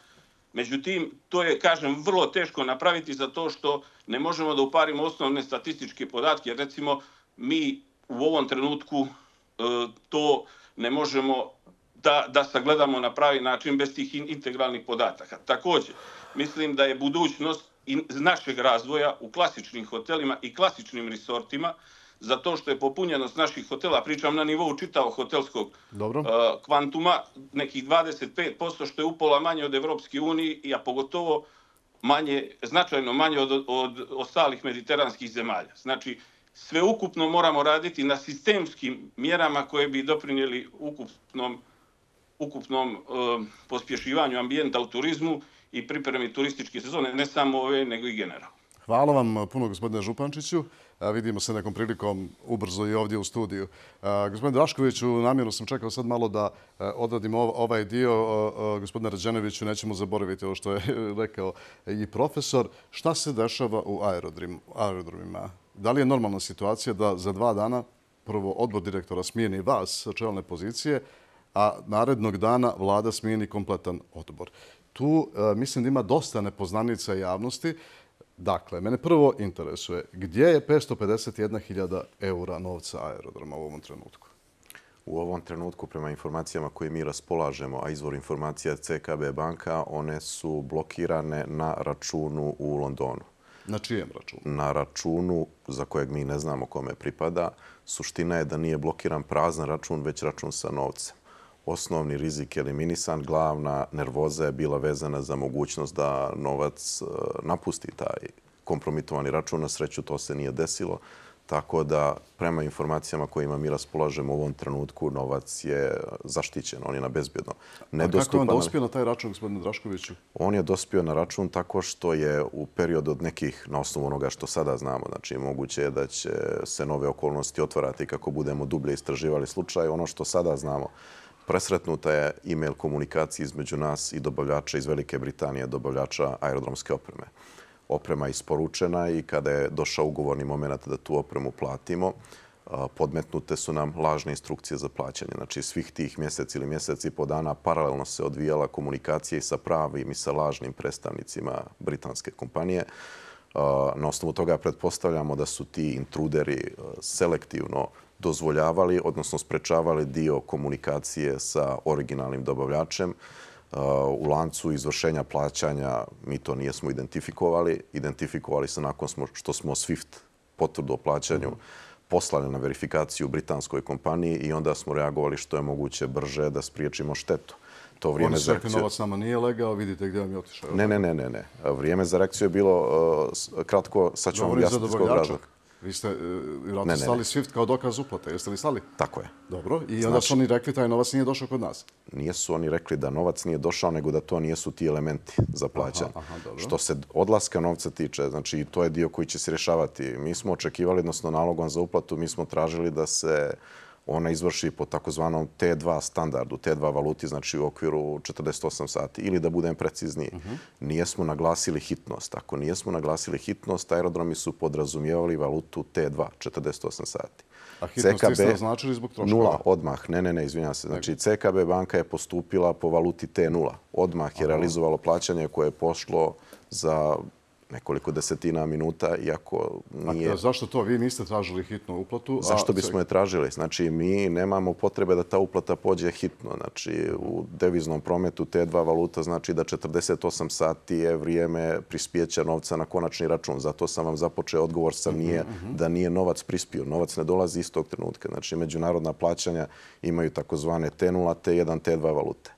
Međutim, to je, kažem, vrlo teško napraviti zato što ne možemo da uparimo osnovne statističke podatke. Recimo, mi u ovom trenutku e, to ne možemo da, da sagledamo na pravi način bez tih integralnih podataka. Također, mislim da je budućnost našeg razvoja u klasičnim hotelima i klasičnim resortima, zato što je popunjenost naših hotela, pričam na nivou čitavog hotelskog Dobro. Uh, kvantuma, nekih dvadeset pet posto, što je upola manje od Evropske unije, a pogotovo manje, značajno manje od, od ostalih mediteranskih zemalja. Znači, sve ukupno moramo raditi na sistemskim mjerama koje bi doprinijeli ukupnom, ukupnom uh, pospješivanju ambijenta u turizmu i pripremi turističke sezone, ne samo ove, nego i generalno. Hvala vam puno, gospodine Župančiću. Vidimo se nekom prilikom ubrzo i ovdje u studiju. Gospodine Draškoviću, namjerno sam čekao sad malo da odradim ovaj dio. Gospodine Rađenoviću, nećemo zaboraviti ovo što je rekao i profesor. Šta se dešava u aerodromima? Da li je normalna situacija da za dva dana prvo odbor direktora smijeni vas sa čelne pozicije, a narednog dana vlada smijeni kompletan odbor? Tu mislim da ima dosta nepoznanica javnosti. Dakle, mene prvo interesuje gdje je petsto pedeset jedna hiljada eura novca aerodroma u ovom trenutku? U ovom trenutku, prema informacijama koje mi raspolažemo, a izvor informacija C K B banka, one su blokirane na računu u Londonu. Na čijem računu? Na računu za kojeg mi ne znamo kome pripada. Suština je da nije blokiran prazan račun, već račun sa novcem. Osnovni rizik je eliminisan, glavna nervoza je bila vezana za mogućnost da novac napusti taj kompromitovani račun. Na sreću to se nije desilo, tako da prema informacijama kojima mi raspolažemo u ovom trenutku novac je zaštićen, on je na bezbjedno. A kako je on dospio na taj račun, gospodine Draškoviću? On je dospio na račun tako što je u periodu od nekih, na osnovu onoga što sada znamo, znači moguće je da će se nove okolnosti otvarati kako budemo dublje istraživali slučaj. Ono što sada znamo, presretnuta je e-mail komunikacija između nas i dobavljača iz Velike Britanije, dobavljača aerodromske opreme. Oprema je isporučena i kada je došao ugovorni moment da tu opremu platimo, podmetnute su nam lažne instrukcije za plaćanje. Znači, svih tih mjesec ili mjesec i po dana paralelno se odvijala komunikacija i sa pravim i sa lažnim predstavnicima britanske kompanije. Na osnovu toga pretpostavljamo da su ti intruderi selektivno dozvoljavali, odnosno sprečavali dio komunikacije sa originalnim dobavljačem. U lancu izvršenja plaćanja mi to nijesmo identifikovali. Identifikovali se nakon što smo SWIFT potvrdu o plaćanju poslali na verifikaciju britanskoj kompaniji i onda smo reagovali što je moguće brže da spriječimo štetu. To vrijeme Oni su rekli novac nama nije legao, vidite gdje vam je otišao. Ne, ne, ne, ne, ne. Vrijeme za reakciju je bilo uh, kratko, sad ću vam objasniti iz kog razloga. Vi ste vjerojatno slali SWIFT kao dokaz uplate. Jeste li slali? Tako je. Dobro. I onda su oni rekli taj novac nije došao kod nas? Nijesu oni rekli da novac nije došao, nego da to nijesu ti elementi za plaćanje. Aha, aha, dobro. Što se odlaska novca tiče, znači to je dio koji će se rješavati. Mi smo očekivali, odnosno nalogom za uplatu, mi smo tražili da se ona izvrši po takozvanom T dva standardu, T dva valuti, znači u okviru četrdeset osam sati. Ili da budem precizniji, nijesmo naglasili hitnost. Ako nijesmo naglasili hitnost, aerodromi su podrazumijevali valutu T dva, četrdeset osam sati. A hitnost ste označili zbog troškova? Nula, odmah. Ne, ne, ne, izvinjam se. Znači, C K B banka je postupila po valuti T nula. Odmah je realizovalo plaćanje koje je pošlo za nekoliko desetina minuta, iako nije... A zašto to? Vi niste tražili hitnu uplatu? Zašto bismo je tražili? Znači, mi nemamo potrebe da ta uplata pođe hitno. Znači, u deviznom prometu T dva valuta znači da četrdeset osam sati je vrijeme prispijeća novca na konačni račun. Zato sam vam započeo odgovor sa nije da nije novac prispio. Novac ne dolazi istog trenutka. Znači, međunarodna plaćanja imaju takozvane T nula, T jedan, T dva valute.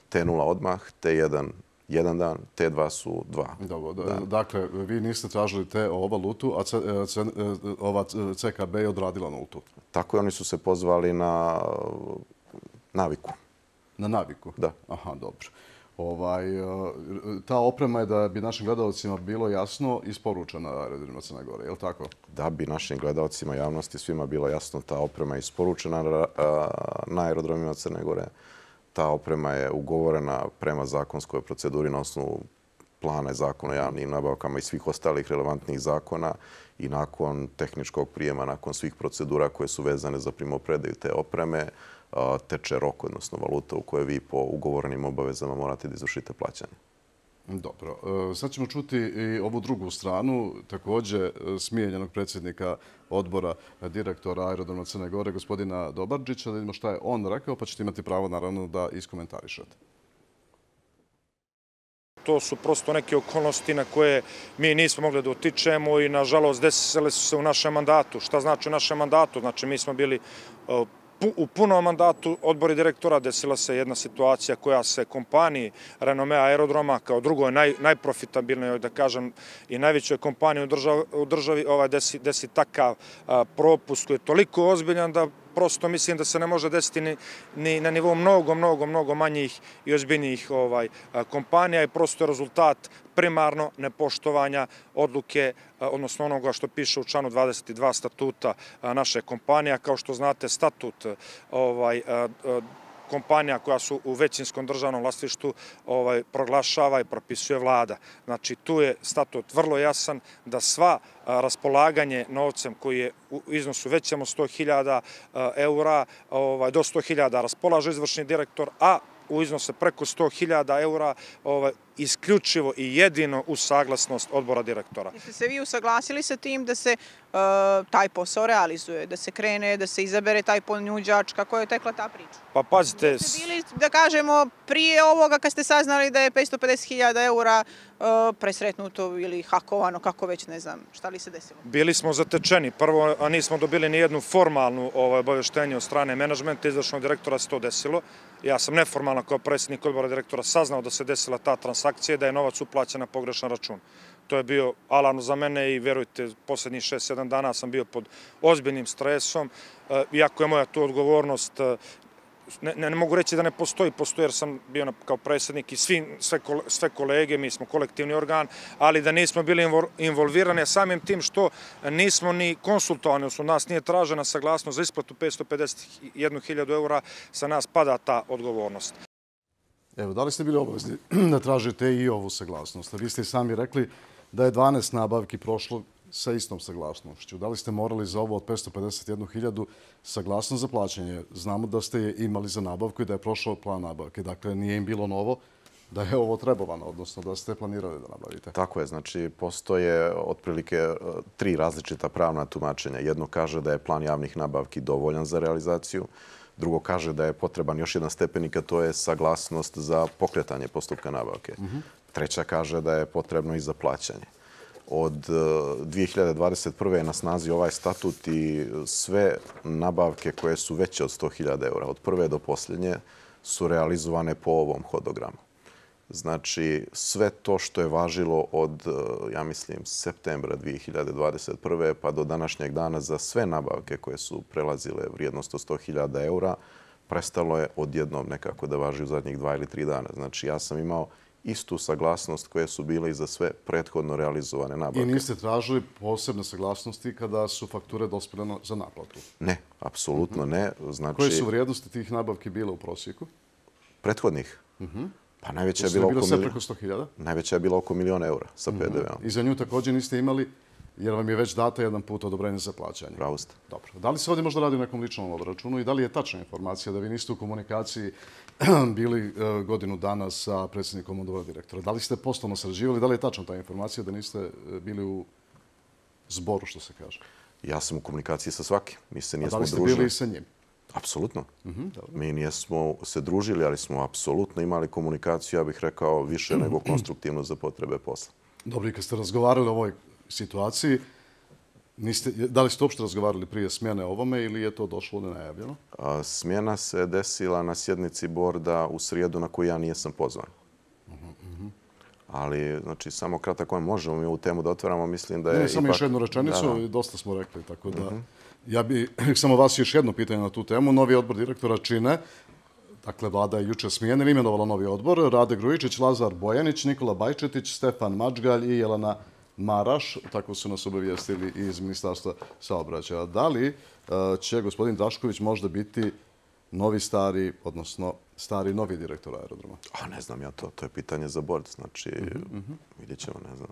T nula odmah, T jedan jedan dan, T dva su dva. Dobro, dakle, vi niste tražili T O valutu, a ova C K B je odradila nultu. Tako je, oni su se pozvali na naviku. Na naviku? Da. Aha, dobro. Ta oprema je, da bi našim gledalcima bilo jasno, isporučena aerodromima Crne Gore, je li tako? Da bi našim gledalcima, javnosti, svima bilo jasno, ta oprema je isporučena na aerodromima Crne Gore. Ta oprema je ugovorena prema zakonskoj proceduri na osnovu plana i zakona o javnim nabavkama i svih ostalih relevantnih zakona i nakon tehničkog prijema, nakon svih procedura koje su vezane za primopredaju te opreme, teče rok, odnosno valuta u kojoj vi po ugovorenim obavezama morate da izvršite plaćanje. Dobro. Sad ćemo čuti i ovu drugu stranu, također smijenjenog predsjednika odbora direktora aerodroma Crne Gore, gospodina Dobarđića, da vidimo šta je on rekao, pa ćete imati pravo naravno da iskomentarišete. To su prosto neke okolnosti na koje mi nismo mogli da utičemo i nažalost desile su se u našem mandatu. Šta znači u našem mandatu? Znači mi smo bili u punom mandatu odbori direktora, desila se jedna situacija koja se kompaniji Renome aerodroma kao drugoj najprofitabilnoj, da kažem, i najvećoj kompaniji u državi desi takav propust koji je toliko ozbiljan da prosto mislim da se ne može desiti ni na nivou mnogo, mnogo, mnogo manjih i ozbiljnijih kompanija i prosto je rezultat primarno nepoštovanja odluke, odnosno onoga što piše u članu dvadeset dva statuta naše kompanije. Kao što znate, statut kompanija koja su u većinskom državnom vlasništvu proglašava i propisuje vlada. Znači, tu je statut vrlo jasan da sva raspolaganje novcem koji je u iznosu većem od sto hiljada eura, do sto hiljada raspolaže izvršni direktor, a u iznose preko sto hiljada eura isključivo i jedino uz saglasnost odbora direktora. Jeste se vi usaglasili sa tim da se taj posao realizuje, da se krene, da se izabere taj ponuđač, kako je tekla ta priča? Pa pazite... Jeste bili, da kažemo, prije ovoga kad ste saznali da je petsto pedeset hiljada eura presretnuto ili hakovano, kako već ne znam, šta li se desilo? Bili smo zatečeni. Prvo, a nismo dobili ni jednu formalnu obaveštenje od strane menadžmenta, izvršnog direktora se to desilo. Ja sam neformalno kao predsjednik odbora direktora saznao da se desila ta transakcija i da je novac uplaćen na pogrešan račun. To je bio alarm za mene i verujte, posljednjih šest sedam dana sam bio pod ozbiljnim stresom. Iako je moja tu odgovornost, ne mogu reći da ne postoji, postoji jer sam bio kao predsjednik i sve kolege, mi smo kolektivni organ, ali da nismo bili involvirani samim tim što nismo ni konsultovani, odnosno nas nije tražena saglasnost za isplatu petsto pedeset jednu hiljadu eura, sa nas pada ta odgovornost. Evo, da li ste bili obavezni da tražite i ovu saglasnost? Vi ste i sami rekli da je dvanaest nabavki prošlo sa istom saglasnošću. Da li ste morali za ovo od petsto pedeset jednu hiljadu saglasnost za plaćanje? Znamo da ste je imali za nabavku i da je prošao plan nabavke. Dakle, nije im bilo novo da je ovo trebovano, odnosno da ste planirali da nabavite. Tako je. Znači, postoje otprilike tri različita pravna tumačenja. Jedno kaže da je plan javnih nabavki dovoljan za realizaciju. Drugo kaže da je potreban još jedan stepenik, a to je saglasnost za pokretanje postupka nabavke. Treća kaže da je potrebno i za plaćanje. Od dvije hiljade dvadeset prve je na snazi ovaj statut i sve nabavke koje su veće od sto hiljada eura, od prve do posljednje, su realizovane po ovom hodogramu. Znači, sve to što je važilo od, ja mislim, septembra dvije hiljade dvadeset prve pa do današnjeg dana za sve nabavke koje su prelazile vrijednost od sto hiljada eura, prestalo je odjednom nekako da važi u zadnjih dva ili tri dana. Znači, ja sam imao istu saglasnost koje su bile i za sve prethodno realizovane nabavke. I niste tražili posebne saglasnosti kada su fakture dospjele za naplatu? Ne, apsolutno ne. Znači, koje su vrijednosti tih nabavki bile u prosjeku? Prethodnih? Pa najveća je bila oko sve preko sto hiljada? Najveća je bila oko miliona eura sa P D V-om. I za nju također niste imali, jer vam je već data jedan put odobrenje za plaćanje. Pravo ste. Dobro. Da li se ovdje možda radi o nekom ličnom obračunu i da li je tačna informacija da vi niste u komunikaciji bili godinu dana sa predsjednikom odbora direktora? Da li ste poslovno sarađivali? Da li je tačna ta informacija da niste bili u zboru, što se kaže? Ja sam u komunikaciji sa svakim. Mi se nijesmo družili. A da li ste bili i sa njim? Apsolutno. Mi nijesmo se družili, ali smo apsolutno imali komunikaciju, ja bih rekao, više nego konstruktivno za potrebe posla. Dobro, i kad ste razgovarali o ovoj situaciji, da li ste uopšte razgovarali prije smjene ovome ili je to došlo nenajavljeno? Smjena se desila na sjednici borda u srijedu na koju ja nijesam pozvan. Ali, znači, samo kratko možemo mi ovu temu da otvaramo, mislim da je... Ne, samo još jednu rečenicu, dosta smo rekli, tako da... Ja bih samo vas još jedno pitanje na tu temu. Novi odbor direktora čine, dakle, vlada je jučer smijene, imenovala novi odbor, Rade Grujičić, Lazar Bojanić, Nikola Bajčetić, Stefan Mačgalj i Jelena Maraš, tako su nas obavijestili iz Ministarstva saobraćaja. Da li će gospodin Drašković možda biti novi stari, odnosno stari novi direktor aerodroma? A ne znam ja to, to je pitanje za bord, znači vidjet ćemo, ne znam.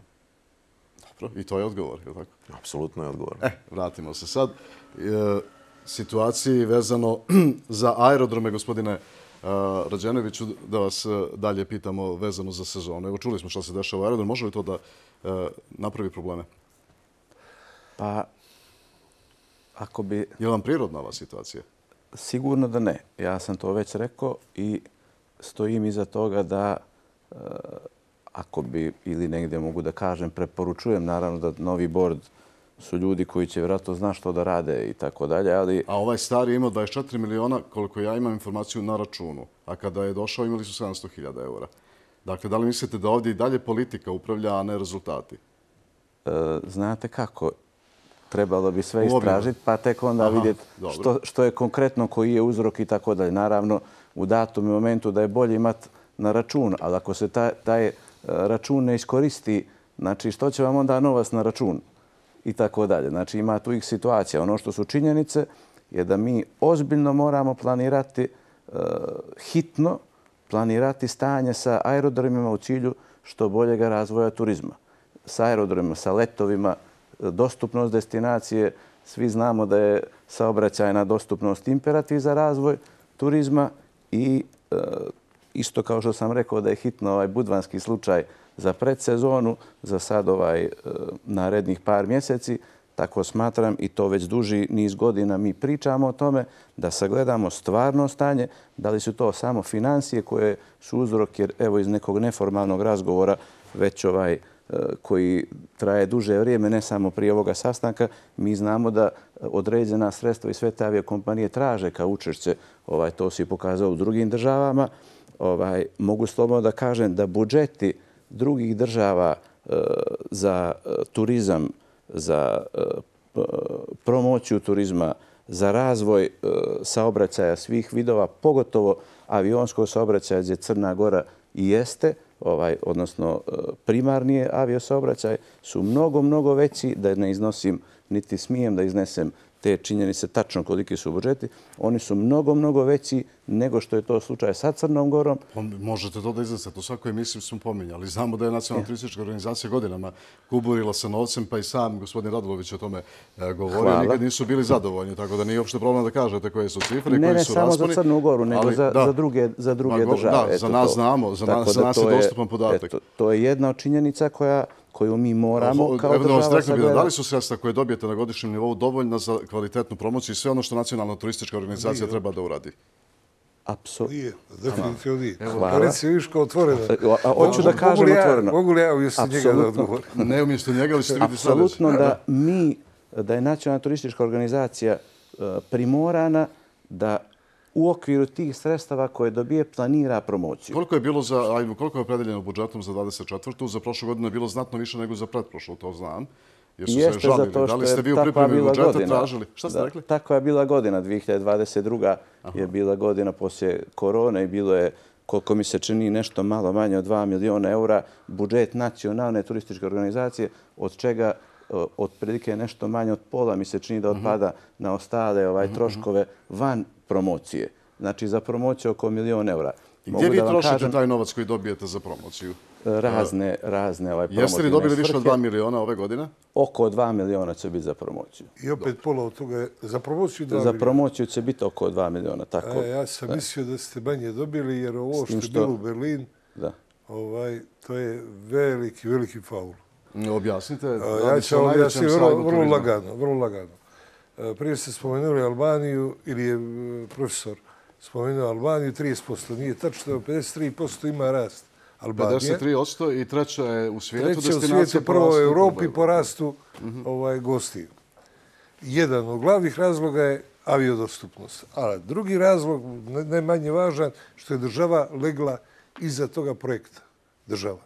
Dobro, i to je odgovor, je li tako? Apsolutno je odgovor. E, vratimo se sad. Situaciji vezano za aerodrome, gospodine Rađenoviću, da vas dalje pitamo vezano za sezonu. Evo, čuli smo što se dešava u aerodromu. Može li to da napravi probleme? Pa, ako bi... Je li vam prirodna ova situacija? Sigurno da ne. Ja sam to već rekao i stojim iza toga da ako bi, ili negdje mogu da kažem, preporučujem naravno da novi bord su ljudi koji će vjerojatno zna što da rade i tako dalje, ali... A ovaj stari je imao dvadeset četiri miliona, koliko ja imam informaciju, na računu. A kada je došao imali su sedamsto hiljada eura. Dakle, da li mislite da ovdje i dalje politika upravlja, a ne rezultati? Znate kako? Trebalo bi sve istražiti, pa tek onda vidjeti što je konkretno, koji je uzrok i tako dalje. Naravno, u datom momentu da je bolje imati na račun, ali ako se taj račun ne iskoristi, znači što će vam onda novac na račun i tako dalje. Znači ima tu ih situacija. Ono što su činjenice je da mi ozbiljno moramo planirati, hitno planirati stanje sa aerodromima u cilju što boljega razvoja turizma. Sa aerodromima, sa letovima, dostupnost destinacije. Svi znamo da je saobraćajna dostupnost imperativ za razvoj turizma i isto kao što sam rekao da je hitno ovaj budvanski slučaj za predsezonu, za sad ovaj narednih par mjeseci, tako smatram i to već duži niz godina mi pričamo o tome da sagledamo stvarno stanje, da li su to samo financije koje su uzrok, jer evo iz nekog neformalnog razgovora već ovaj koji traje duže vrijeme, ne samo prije ovoga sastanka, mi znamo da određena sredstva i sve te aviokompanije traže kao učešće, ovaj, to se pokazao u drugim državama. Ovaj, mogu slobodno da kažem da budžeti drugih država e, za e, turizam, za e, promociju turizma, za razvoj e, saobraćaja svih vidova, pogotovo avionskog saobraćaja gdje Crna Gora i jeste, ovaj, odnosno primarni aviosaobraćaj, su mnogo, mnogo veći, da ne iznosim, niti smijem da iznesem te činjenice tačno koliki su budžeti. Oni su mnogo, mnogo veći nego što je to slučaj sa Crnom Gorom. Možete to da iznesete. U svakoj emisiji smo pominjali. Znamo da je Nacionalna turistička organizacija godinama kuburila sa novcem, pa i sam gospodin Radulović o tome govorio. Nikad nisu bili zadovoljni, tako da nije uopšte problem da kažete koje su cifre, ne, koji su rasponi. Ne, ne samo za Crnu Goru, nego ali, za, da, za druge, za druge ma, države. Da, za nas znamo, za nas, za nas je dostupan podatak. Eto, to je jedna od činjenica koja koju mi moramo kao država sagledati. Da li su sredstva koje dobijete na godišnjem nivou dovoljna za kvalitetnu promociju i sve ono što Nacionalna turistička organizacija treba da uradi? Apsolutno. Nije, definitivno nije. Hvala. Reci viško otvoreno. Hoću da kažem otvoreno. Mogu li ja umjesto njega da odgovorim? Ne umjesto njega, ali ćete vidjeti sljedeće. Apsolutno da mi, da je Nacionalna turistička organizacija primorana da u okviru tih sredstava koje dobije planira promociju. Koliko je bilo za, ajmo, koliko je opredeljeno budžetom za dvadeset četvrtu? Za prošlu godinu je bilo znatno više nego za pretprošlu, to znam. Jer su Jeste se žalili. Zato što da li ste vi u je pripremi budžeta godina. tražili? Šta ste da, rekli? Takva je bila godina. dvije hiljade dvadeset druga. je bila godina poslije korone i bilo je koliko mi se čini nešto malo manje od dva miliona eura, budžet nacionalne turističke organizacije, od čega otprilike nešto manje od pola mi se čini da otpada na ostale ovaj, troškove van promocije. Znači za promociju oko milion eura. I gdje vi trošite taj novac koji dobijete za promociju? Razne, razne ovaj promocije. Jeste li dobili više od dva miliona ove godine? Oko dva miliona će biti za promociju. I opet pola od toga je za promociju dva miliona? Za promociju će biti oko dva miliona, tako. Ja sam mislio da ste manje dobili, jer ovo što je bilo u Berlin, to je veliki, veliki faul. Objasnite. Ja ću objasniti vrlo lagano, vrlo lagano. Prije ste spomenuli Albaniju, ili je profesor spomenuo Albaniju, trideset posto. Nije tačno, pedeset tri posto ima rast Albanije. pedeset tri posto i treća je u svijetu destinacija. Treća u svijetu, prvo u Europi po rastu gostiju. Jedan od glavnih razloga je aviodostupnost. A drugi razlog, ne manje važan, što je država legla iza toga projekta. Država.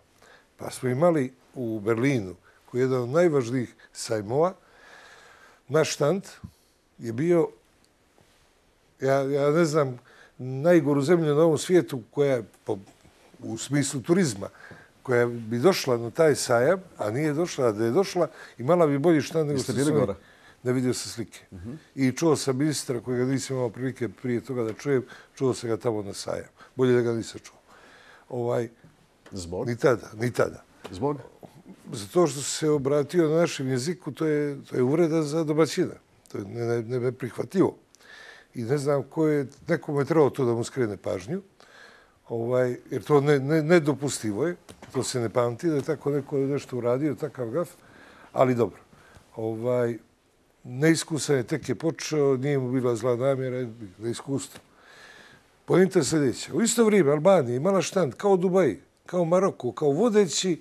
Pa smo imali u Berlinu, koji je jedan od najvažnijih sajmova, naš štand je bio, ja ne znam, najgoru zemlju na ovom svijetu koja je, u smislu turizma, koja bi došla na taj sajam, a nije došla, a da je došla, imala bi bolji štand nego što su oni. Ne vidio se slike. I čuo sam ministra, kojega nisam imao prilike prije toga da čujem, čuo sam ga tamo na sajam. Bolje da ga nisam čuo. Zbog? Ni tada, ni tada. Zbog? Zato što se obratio na našem jeziku, to je uvreda za domaćina. To je neprihvatljivo. I ne znam ko je, nekome je trebalo to da mu skrene pažnju, jer to nedopustivo je, to se ne pamti da je tako neko nešto uradio, takav gaf, ali dobro. Neiskusan je, tek je počeo, nije mu bila zla namjera, neiskustvo. Poenta je sljedeća. U isto vrijeme Albanija imala štand kao Dubaji, kao Maroko, kao vodeći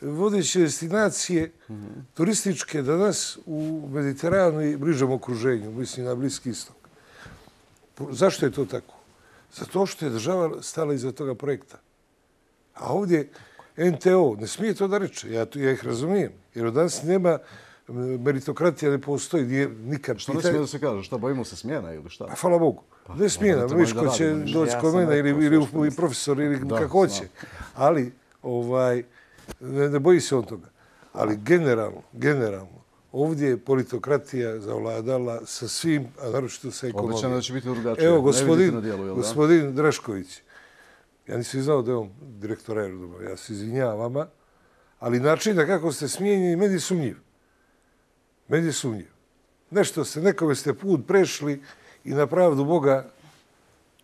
vodeće destinacije turističke danas u Mediteranu i bližem okruženju, mislim na Bliski istok. Zašto je to tako? Zato što je država stala iza toga projekta. A ovdje en te o ne smije to da reče. Ja ih razumijem. Jer od danas nema meritokratija, ne postoji, nije nikad pitanje. Što ne smije da se kaže? Šta, bojimo se smjena ili šta? Hvala Bogu. Ne smjena. Viško će doći kod mene ili profesor ili kako hoće. Ali, ovaj, ne boji se on toga. Ali generalno, generalno, ovdje je politokratija zavladala sa svim, a naročito sa ekonomijom. Obećano da će biti drugačije. Evo, gospodin Drašković, ja nisam znao da je on direktor aerodroma, ja se izvinjavam vama, ali način da kako ste smijenjeni, meni je sumnjiv. Meni je sumnjiv. Nešto ste, nekome ste put prešli i na pravdu Boga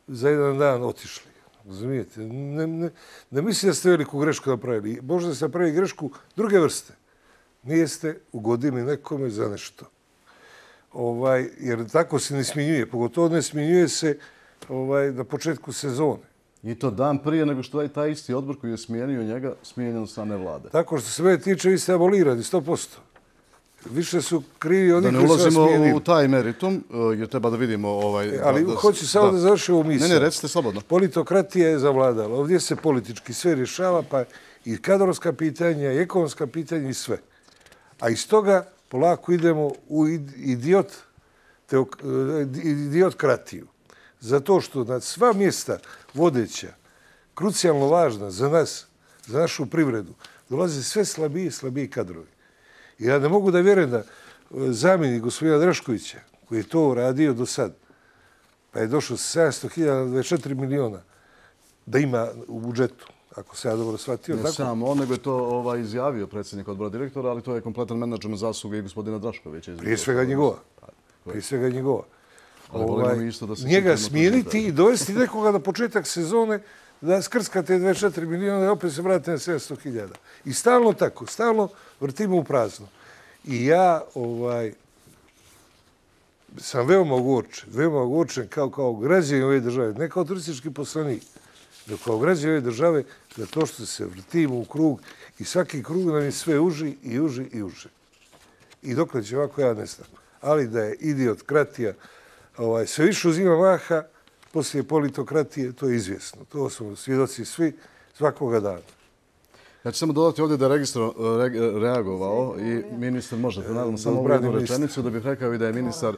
za jedan dan otišli. Razumijete? Ne mislim da ste veliku grešku napravili. Možda ste napravili grešku druge vrste. Nijeste ugodili nekome za nešto. Jer tako se ne smjenjuje. Pogotovo ne smjenjuje se na početku sezone. I to dan prije nego što je taj isti odbor koji je smijenio njega, smijenjen od strane vlade. Tako što se mene tiče, vi ste abolirani, sto posto. Više su krivi oni koji su vas smijenili. Da ne ulazimo u taj meritum, jer treba da vidimo... Ali hoću samo da završim ovu misao. Ne, ne, recite slobodno. Politokratija je zavladala. Ovdje se politički sve rješava, pa i kadrovska pitanja, i ekonomska pitanja, i sve. A iz toga polako idemo u idiotokratiju. Zato što na sva mjesta vodeća, krucijalno važna za nas, za našu privredu, dolaze sve slabiji i slabiji kadrovi. I ja ne mogu da vjerujem da zamjenik gospodina Draškovića, koji je to radio do sad, pa je došao sa sedamsto hiljada na dvadeset četiri miliona, da ima u budžetu, ako se ja dobro shvatio. Ne samo on, nego je to izjavio predsjednik odbora direktora, ali to je kompletan menadžment zasluge i gospodina Draškovića. Prije svega njegova. Prije svega njegova. Njega smijeniti i dovesti nekoga na početak sezone da skrskate dvadeset četiri miliona i opet se vratite na sedamsto hiljada. I stalno tako, stalno vrtimo u prazno. I ja sam veoma ogorčen, veoma ogorčen kao građanin ove države, ne kao turistički poslanik, nego kao građanin ove države, za to što se vrtimo u krug i svaki krug nam je sve uži i uži i uži. I dokle će ovako, ja ne znam. Ali da je idiotokratija sve više uzima maha, poslije politokratije, to je izvjesno. To smo svjedoci svi svakoga dana. Ja ću samo dodati ovdje da je registro reagovao i ministar, možete naravno samo ovu jednu rečenicu, da bih rekao i da je ministar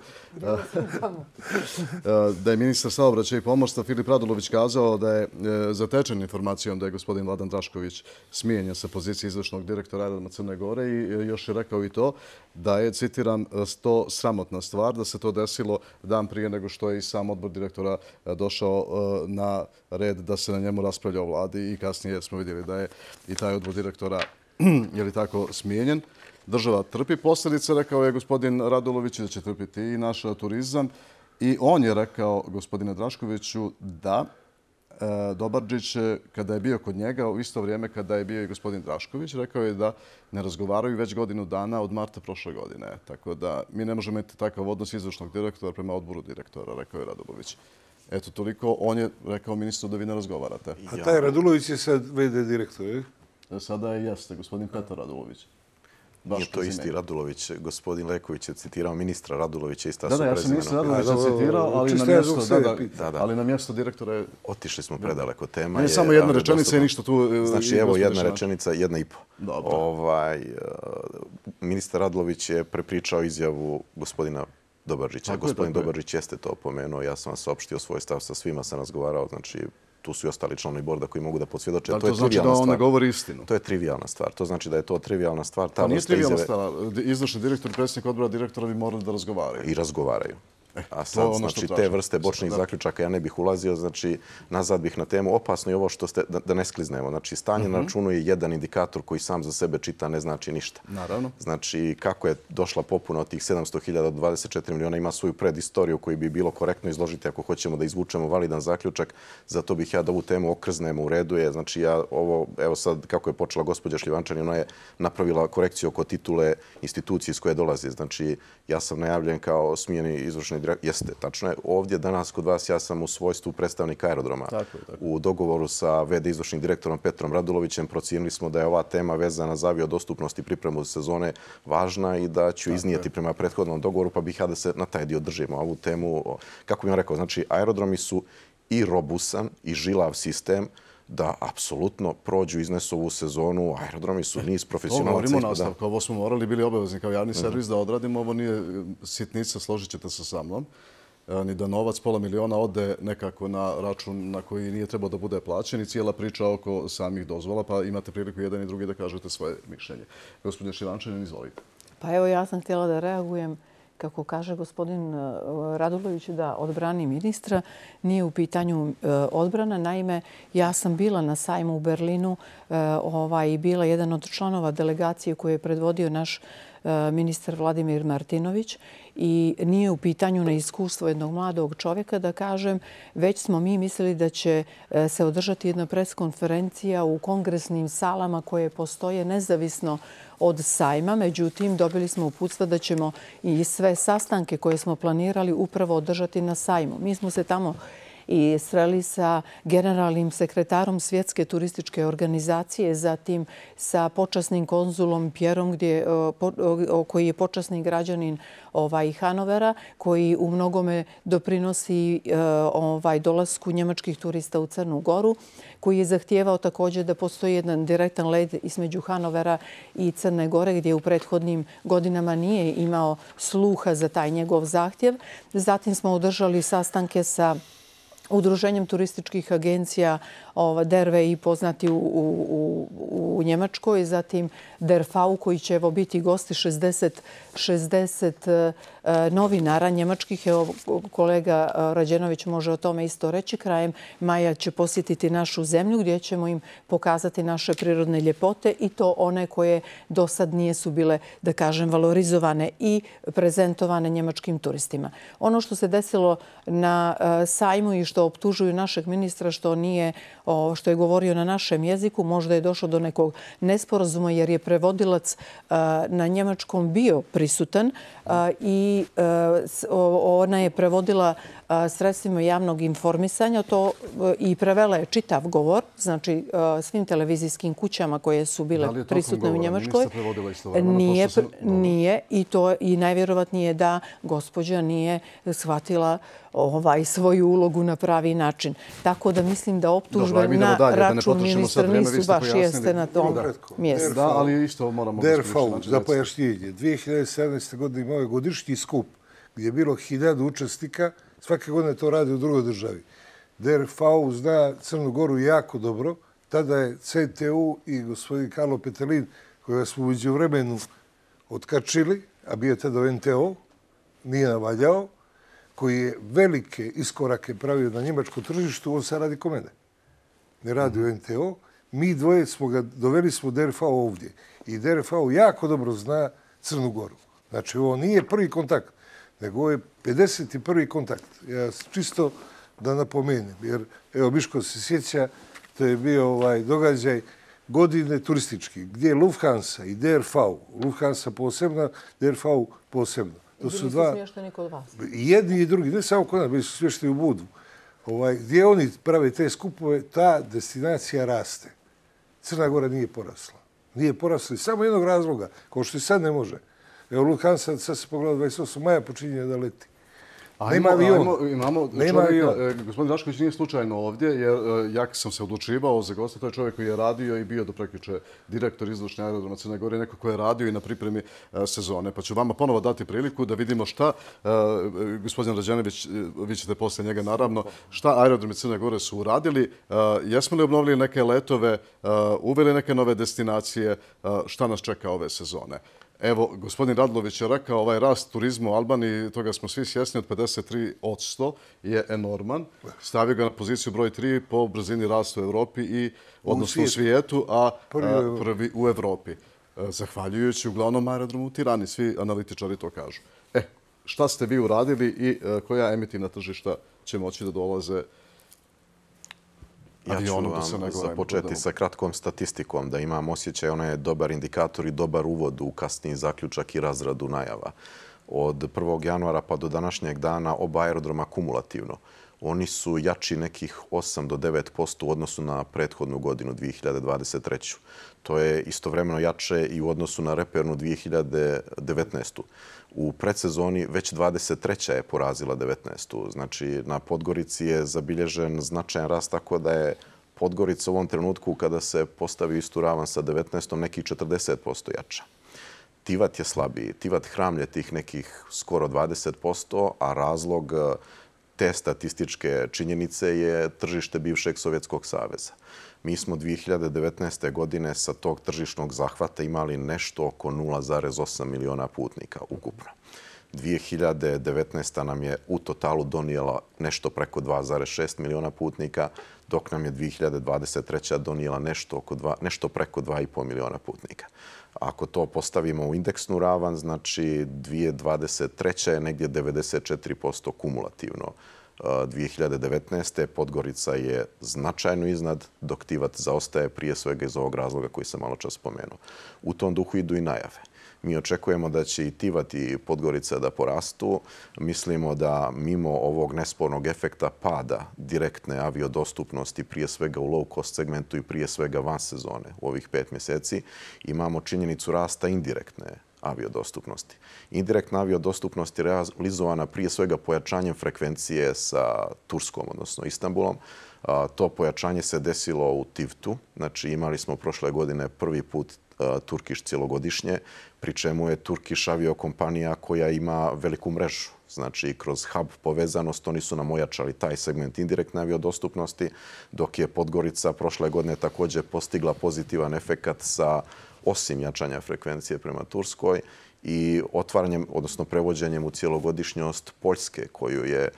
da je ministar saobraćaja i pomorstva Filip Radulović kazao da je zatečen informacijom da je gospodin Vladan Drašković smijenjen sa pozicije izvršnog direktora Aerodroma Crne Gore i još je rekao i to da je, citiram, to sramotna stvar, da se to desilo dan prije nego što je i sam odbor direktora došao na red da se na njemu raspravlja o vladi i kasnije smo vidjeli da je i taj odbor direktora je li tako smijenjen. Država trpi posljedice, rekao je gospodin Radulović, da će trpiti i naš turizam. I on je rekao gospodine Draškoviću da Dobarđić, kada je bio kod njega, u isto vrijeme kada je bio i gospodin Drašković, rekao je da ne razgovaraju već godinu dana od marta prošle godine. Tako da mi ne možemo imati takav odnos izvršnog direktora prema odboru direktora, rekao je Radulović. Eto, toliko. On je rekao ministru da vi ne razgovarate. A taj Radulović je sad ve de direktor, je? Sada je jeste, gospodin Petar Radulović. Nije to isti Radulović. Gospodin Leković je citirao ministra Radulovića i Stasu prezimena. Da, da, ja sam ministra Radulovića citirao, ali na mjesto direktora je... Otišli smo predaleko. Tema je... Samo jedna rečenica i ništa tu... Znači, evo jedna rečenica, jedna i po. Ministar Radulović je prepričao izjavu gospodina Dobarđića. Gospodin Dobarđić jeste to opomenuo. Ja sam vam saopštio svoj stav, sa svima sam razgovarao. Znači, tu su i ostali članovi borda koji mogu da podsvjedoče. Da, to znači da on ne govori istinu? To je trivijalna stvar. To znači da je to trivijalna stvar. Pa nije trivijalna stvar. Izvršni direktor i predsjednik odbora direktora bi morali da razgovaraju. I razgovaraju. A sad, znači, te vrste bočnih zaključaka ja ne bih ulazio. Znači, nazad bih na temu. Opasno je ovo što ste, da ne skliznemo. Znači, stanje na računu je jedan indikator koji sam za sebe čita, ne znači ništa. Naravno. Znači, kako je došla popuna od tih sedamsto hiljada do dvadeset četiri miliona, ima svoju predistoriju koju bi bilo korektno izložiti ako hoćemo da izvučemo validan zaključak. Zato bih ja da ovu temu okrznemo. U redu je. Znači, ja ovo, evo sad, kako je počela gospođa Šljivančanin, ona je napravila korekciju oko titule institucije iz koje dolazi. Znači, ja sam najavljen kao smijeni izvršni direktor. Jeste, tačno je. Ovdje danas kod vas ja sam u svojstvu predstavnika aerodroma. U dogovoru sa ve de izvršnim direktorom Petrom Radulovićem procijenili smo da je ova tema vezana za aviodostupnost i pripremu sezone važna i da ću iznijeti prema prethodnom dogovoru, pa bih ja da se na taj dio držimo. Ovu temu, kako bih vam rekao, znači aerodromi su i robusan i žilav sistem da apsolutno prođu, iznesu ovu sezonu. Aerodromi su niz profesionalaca. Ovo govorimo nastavka. Ovo smo morali bili obavezni kao javni servis da odradimo. Ovo nije sitnica, složit ćete se sa mnom. Ni da novac pola miliona ode nekako na račun na koji nije trebao da bude plaćen i cijela priča oko samih dozvola, pa imate priliku jedan i drugi da kažete svoje mišljenje. Gospodin Šljivančanin, izvolite. Pa evo, ja sam htjela da reagujem kako kaže gospodin Radulović, da odbrani ministra. Nije u pitanju odbrana. Naime, ja sam bila na sajmu u Berlinu i bila jedan od članova delegacije koju je predvodio naš ministar Vladimir Martinović i nije u pitanju na iskustvo jednog mladog čovjeka da kažem, već smo mi mislili da će se održati jedna preskonferencija u kongresnim salama koje postoje nezavisno od sajma. Međutim, dobili smo uputstva da ćemo i sve sastanke koje smo planirali upravo održati na sajmu. Mi smo se tamo i sreli sa generalnim sekretarom Svjetske turističke organizacije, zatim sa počasnim konzulom Pjerom, koji je počasni građanin Hanovera, koji u mnogome doprinosi dolasku njemačkih turista u Crnu Goru, koji je zahtijevao također da postoji jedan direktan let između Hanovera i Crne Gore, gdje u prethodnim godinama nije imao sluha za taj njegov zahtjev. Zatim smo održali sastanke sa Udruženjem turističkih agencija D E R V i poznati u Njemačkoj, zatim D E R V koji će biti gosti šezdeset novinara njemačkih. Evo, kolega Rađenović može o tome isto reći. Krajem maja će posjetiti našu zemlju gdje ćemo im pokazati naše prirodne ljepote i to one koje do sad nijesu bile, da kažem, valorizovane i prezentovane njemačkim turistima. Ono što se desilo na sajmu i što optužuju našeg ministra što nije, što je govorio na našem jeziku, možda je došlo do nekog nesporazuma jer je prevodilac na njemačkom bio prisutan i ona je prevodila sredstvima javnog informisanja to i prevela je čitav govor, znači svim televizijskim kućama koje su bile prisutne u Njemačkoj. Nije i to i najvjerovatnije da gospođa nije shvatila svoju ulogu na pravi način. Tako da mislim da optužbe na račun ministra nisu baš jeste na tom mjestu. Da, ali isto moramo... Derfau, za pojašnjenje. dvije hiljade sedamnaeste. godine imao je godišnji skup gdje je bilo hiljadu učesnika. Svake godine to radi u drugoj državi. Derfau zna Crnu Goru jako dobro. Tada je C T U i gospodin Karlo Petelin, kojega smo uđe u vremenu otkačili, a bio je tada u N T O, nije navaljao, koji je velike iskorake pravio na njemačkom tržištu, on sad radi ko mene. Ne radi u N T O. Mi dvoje smo ga, doveli smo Derfau ovdje. I Derfau jako dobro zna Crnu Goru. Znači, ovo nije prvi kontakt, nego ovo je pedeset prvi kontakt. Ja čisto da napomenem, jer evo Miško se sjeća, to je bio ovaj događaj godine turistički, gdje je Lufthansa i Derfau, Lufthansa posebno, Derfau posebno. To su dva... smješteni kod vas? Jedni i drugi, ne samo kod nas, bili su smješteni u Budu. Ovaj, gdje oni prave te skupove, ta destinacija raste. Crna Gora nije porasla. Nije porasla iz samo jednog razloga, kao što i sad ne može. Evo Lufthansa, sad se pogleda dvadeset osmog maja počinje da leti. Nema avion. Imamo čovjeka, gospodin Rašković nije slučajno ovdje, jer ja sam se odlučivao za gosta, to je čovjek koji je radio i bio do prekjuče direktor izvršne aerodroma Crne Gore, neko koji je radio i na pripremi sezone. Pa ću vama ponovo dati priliku da vidimo šta, gospodin Rađenović, vi ćete poslije njega naravno, šta aerodromi Crne Gore su uradili, jesmo li obnovili neke letove, uveli neke nove destinacije, šta nas čeka ove sezone. Evo, gospodin Radlović je rekao, ovaj rast turizma u Albaniji, toga smo svi svjesni, od pedeset tri posto je enorman. Stavio ga na poziciju broj tri po brzini rasta u Evropi i odnosno u svijetu, a prvi u Evropi. Zahvaljujući uglavnom aerodromu u Tirani, svi analitičari to kažu. E, šta ste vi uradili i koja emitivna tržišta će moći da dolaze? Ja ću vam započeti sa kratkom statistikom, da imam osjećaj, ona je dobar indikator i dobar uvod u kasniji zaključak i razradu najava. Od prvog januara pa do današnjeg dana oba aerodroma kumulativno. Oni su jači nekih osam do devet posto u odnosu na prethodnu godinu dvije hiljade dvadeset treću. To je istovremeno jače i u odnosu na repernu dvije hiljade devetnaestu. U predsezoni već dvadeset treća je porazila devetnaestu. Znači, na Podgorici je zabilježen značajan rast, tako da je Podgorica u ovom trenutku, kada se postavi istu ravan sa devetnaestom, nekih četrdeset posto jača. Tivat je slabiji. Tivat hramlje tih nekih skoro dvadeset posto, a razlog te statističke činjenice je tržište bivšeg Sovjetskog saveza. Mi smo dvije hiljade devetnaeste. godine sa tog tržišnog zahvata imali nešto oko nula zarez osam miliona putnika ukupno. dvije hiljade devetnaesta. nam je u totalu donijela nešto preko dva zarez šest miliona putnika, dok nam je dvije hiljade dvadeset treća. donijela nešto, oko dva, nešto preko dva i pol miliona putnika. Ako to postavimo u indeksnu ravan, znači dvije hiljade dvadeset treća. je negdje devedeset četiri posto kumulativno. dvije hiljade devetnaeste. Podgorica je značajno iznad, dok Tivat zaostaje prije svega iz ovog razloga koji sam malo čas spomenuo. U tom duhu idu i najave. Mi očekujemo da će i Tivat i Podgorica da porastu. Mislimo da mimo ovog nespornog efekta pada direktne aviodostupnosti, prije svega u low cost segmentu i prije svega van sezone u ovih pet mjeseci, imamo činjenicu rasta indirektne aviodostupnosti. Indirektna aviodostupnost je realizovana prije svega pojačanjem frekvencije sa Turskom, odnosno Istanbulom. To pojačanje se desilo u Tivtu. Znači, imali smo prošle godine prvi put Turkish cjelogodišnje, pri čemu je Turkish aviokompanija koja ima veliku mrežu. Znači, kroz hub povezanost oni su nam ojačali taj segment indirektne aviodostupnosti, dok je Podgorica prošle godine također postigla pozitivan efekat sa, osim jačanja frekvencije prema Turskoj, i otvaranjem, odnosno prevođenjem u cjelogodišnjost Poljske, koju je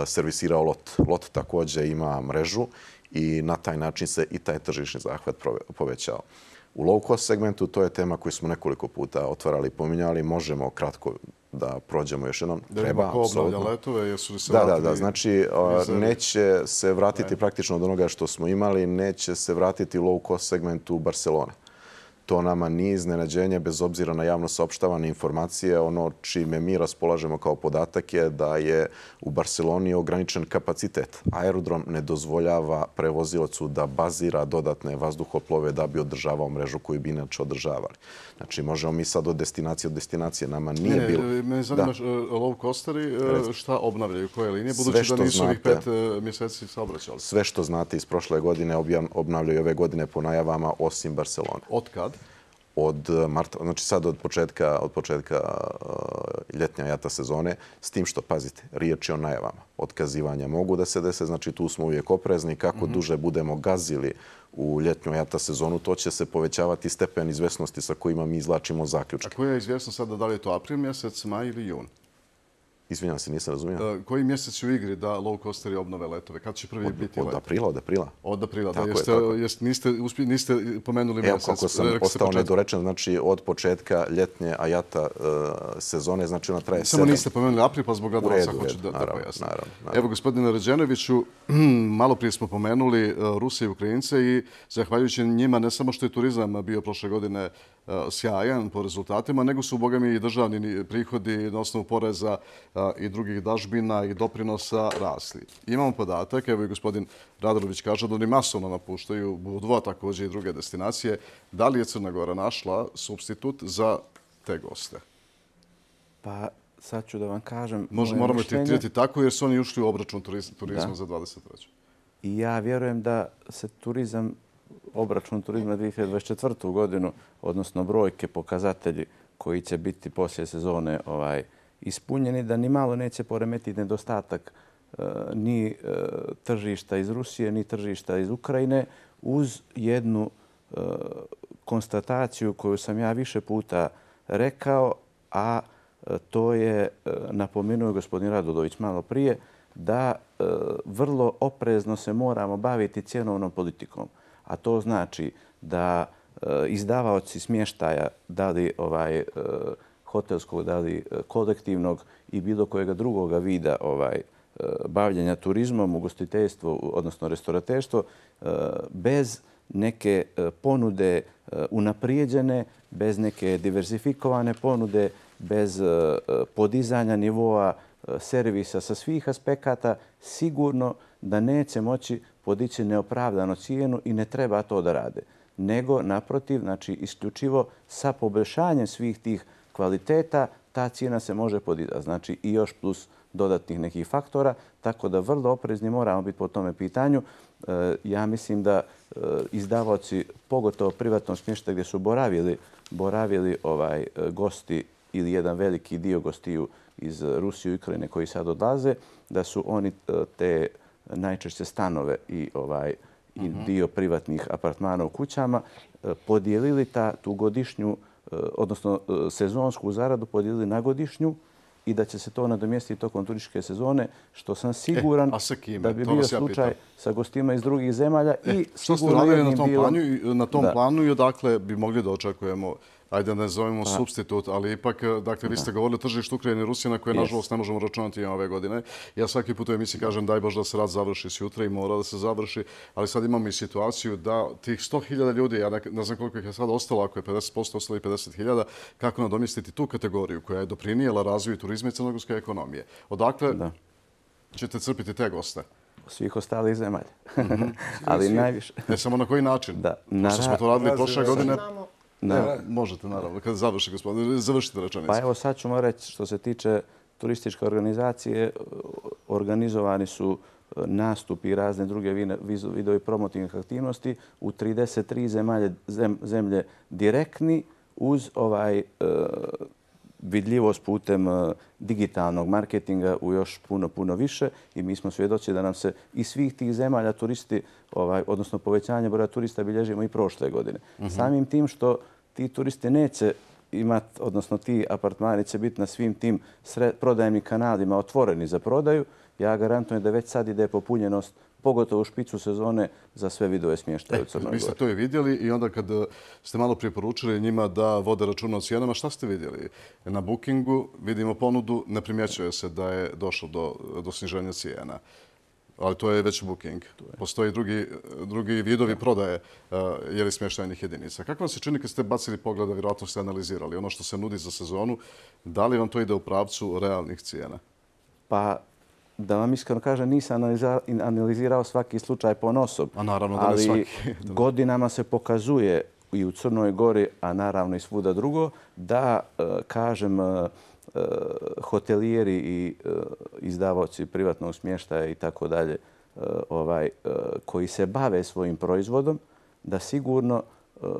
servisirao LOT. LOT također ima mrežu i na taj način se i taj tržišni zahvat povećao. U low cost segmentu to je tema koju smo nekoliko puta otvarali i pominjali. Možemo kratko da prođemo još jednom. Treba, apsolutno. Letove, jesu li se da, da, da. Znači, neće se vratiti praktično od onoga što smo imali, neće se vratiti u low cost segmentu Barcelone. To nama nije iznenađenje, bez obzira na javno saopštavane informacije. Ono čime mi raspolažemo kao podatak je da je u Barceloni ograničen kapacitet. Aerodrom ne dozvoljava prevozilacu da bazira dodatne vazduhoplove da bi održavao mrežu koju bi inače održavali. Znači, možemo mi sad od destinacije od destinacije. Nama nije ne, bilo... Me zanima low costeri šta obnavljaju, koje linije, budući da nisu ovih pet mjeseci saobraćali. Sve što znate iz prošle godine obnavljaju ove godine po najavama, osim Barcelone. Od kad? Od marta, znači sad od početka, od početka uh, ljetnja jata sezone, s tim što, pazite, riječ je o najavama. Otkazivanja mogu da se dese, znači tu smo uvijek oprezni. Kako mm-hmm. duže budemo gazili u ljetnju jata sezonu, to će se povećavati stepen izvjesnosti sa kojima mi izlačimo zaključke. A koja je izvjesnost sada, da li je to april mjesec, maj ili jun? Izvinjam se, nisam razumio. Uh, koji mjesec u igri da low coasteri obnove letove? Kad će prvi od, biti od let? Aprila, od aprila. Od aprila, tako da. Jeste, je, jeste, niste, uspje, niste pomenuli Evo, mjesec. Evo, kako sam ostao nedorečen, znači od početka ljetnje ajata uh, sezone, znači ona traje Samo sedam. Niste pomenuli april, pa zbog gledalaca hoću da, da pojasnim. Evo, gospodine Ređenoviću, malo prije smo pomenuli uh, Rusije i Ukrajince i zahvaljujući njima ne samo što je turizam bio prošle godine uh, sjajan po rezultatima, nego su, boga mi, i državni prihodi na osnovu poreza uh, i drugih dažbina i doprinosa rasli. Imamo podatak, evo i gospodin Radolović kaže da oni masovno napuštaju Budva, također i druge destinacije. Da li je Crna Gora našla substitut za te goste? Pa sad ću da vam kažem... Možda moramo tretirati tako jer su oni ušli u obračun turizma da. za dvadeset treću. I ja vjerujem da se turizam, obračun turizma dvije hiljade dvadeset četvrtu godinu, odnosno brojke, pokazatelji koji će biti poslije sezone ovaj, ispunjeni, da ni malo neće poremetiti nedostatak e, ni e, tržišta iz Rusije, ni tržišta iz Ukrajine, uz jednu e, konstataciju koju sam ja više puta rekao, a e, to je, e, napomenuo gospodin Radulović malo prije, da e, vrlo oprezno se moramo baviti cjenovnom politikom. A to znači da e, izdavaoci smještaja, da li ovaj, e, hotelskog, da li kolektivnog i bilo kojega drugoga vida ovaj, bavljenja turizmom, ugostiteljstvo, odnosno restorateštvo, bez neke ponude unaprijeđene, bez neke diversifikovane ponude, bez podizanja nivoa servisa sa svih aspekata, sigurno da neće moći podići neopravdano cijenu i ne treba to da rade. Nego, naprotiv, znači isključivo sa poboljšanjem svih tih kvaliteta, ta cijena se može podizati. Znači i još plus dodatnih nekih faktora, tako da vrlo oprezni moramo biti po tome pitanju. E, ja mislim da e, izdavaoci, pogotovo privatnom smještaju gdje su boravili, boravili ovaj, gosti ili jedan veliki dio gostiju iz Rusije i Ukrajine koji sad odlaze, da su oni te najčešće stanove i, ovaj, i dio privatnih apartmana u kućama podijelili ta, tu godišnju, odnosno sezonsku zaradu podijelili na godišnju i da će se to nadomjestiti tokom turističke sezone, što sam siguran e, da bi bio slučaj ja sa gostima iz drugih zemalja. E, i što ste radili na tom, bilo... planu, na tom da. planu i odakle bi mogli da očekujemo, ajde ne zovemo pa. substitut, ali ipak, dakle, vi ste govorili o tržištu Ukrajine i Rusije na koje, yes. nažalost, ne možemo računati ove godine. Ja svaki put u emisiji kažem daj Bož da se rad završi sutra i mora da se završi, ali sad imamo i situaciju da tih sto hiljada ljudi, ja ne, ne znam koliko ih je sad ostalo, ako je pedeset posto ostalo i pedeset hiljada, kako nadomjestiti tu kategoriju koja je doprinijela razvoju turizma i crnogorske ekonomije. Odakle da. ćete crpiti te goste? Svih ostalih zemalja. Mm-hmm. ali najviše... Ne samo na koji način? Da. Na Pošto smo to radili prošle godine... Da. Možete, naravno, kada završi, gospodine, završite rečenicu. Pa evo sad ćemo reći, što se tiče turističke organizacije, organizovani su nastupi i razne druge vidovi promotivnih aktivnosti u trideset tri zemalje, zem, zemlje direktni uz ovaj e, vidljivost putem digitalnog marketinga u još puno, puno više i mi smo svjedoci da nam se iz svih tih zemalja turisti, ovaj, odnosno povećanje broja turista bilježimo i prošle godine. Uh-huh. Samim tim što ti turisti neće imati, odnosno ti apartmani će biti na svim tim prodajnim kanalima otvoreni za prodaju, ja garantujem da već sad ide popunjenost, pogotovo u špicu sezone, za sve vidove smještaja u Crnoj Gori. Vi ste to i vidjeli i onda kad ste malo preporučili njima da vode računa o cijenama, šta ste vidjeli? Na Bookingu vidimo ponudu, ne primjećuje se da je došlo do, do sniženja cijena. Ali to je već booking. Postoje drugi, drugi vidovi prodaje uh, jeli smještajnih jedinica. Kako vam se čini kad ste bacili pogleda, vjerojatno ste analizirali ono što se nudi za sezonu, da li vam to ide u pravcu realnih cijena? Pa, da vam iskreno kažem, nisam analizirao svaki slučaj ponosob. A naravno da ne svaki. Ali godinama se pokazuje i u Crnoj Gori, a naravno i svuda drugo, da, kažem, hotelijeri i izdavaoci privatnog smještaja i tako dalje, ovaj, koji se bave svojim proizvodom, da sigurno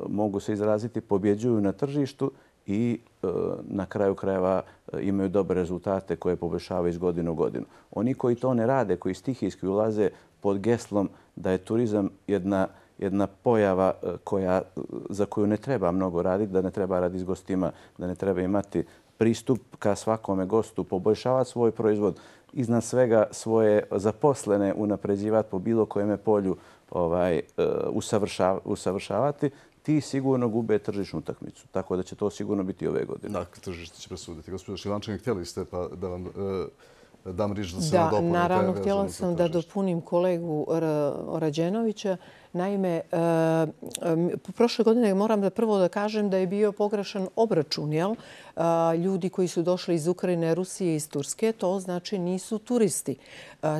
mogu se izraziti, pobjeđuju na tržištu i na kraju krajeva imaju dobre rezultate koje poboljšavaju iz godine u godinu. Oni koji to ne rade, koji stihijski ulaze pod geslom da je turizam jedna jedna pojava koja, za koju ne treba mnogo raditi, da ne treba raditi s gostima, da ne treba imati pristup ka svakome gostu, poboljšavati svoj proizvod, iznad svega svoje zaposlene unapređivati po bilo kojem polju, ovaj, usavršav, usavršavati, ti sigurno gube tržišnu utakmicu. Tako da će to sigurno biti ove godine. Dakle, tržište će presuditi. Gospodin Šilančanin, htjeli ste pa da vam e, dam riječ da se da, nadopunite. Naravno, htjela sam da dopunim kolegu Rađenovića. Naime, prošle godine moram da prvo da kažem da je bio pogrešan obračun, jel? Ljudi koji su došli iz Ukrajine, Rusije i iz Turske, to znači nisu turisti.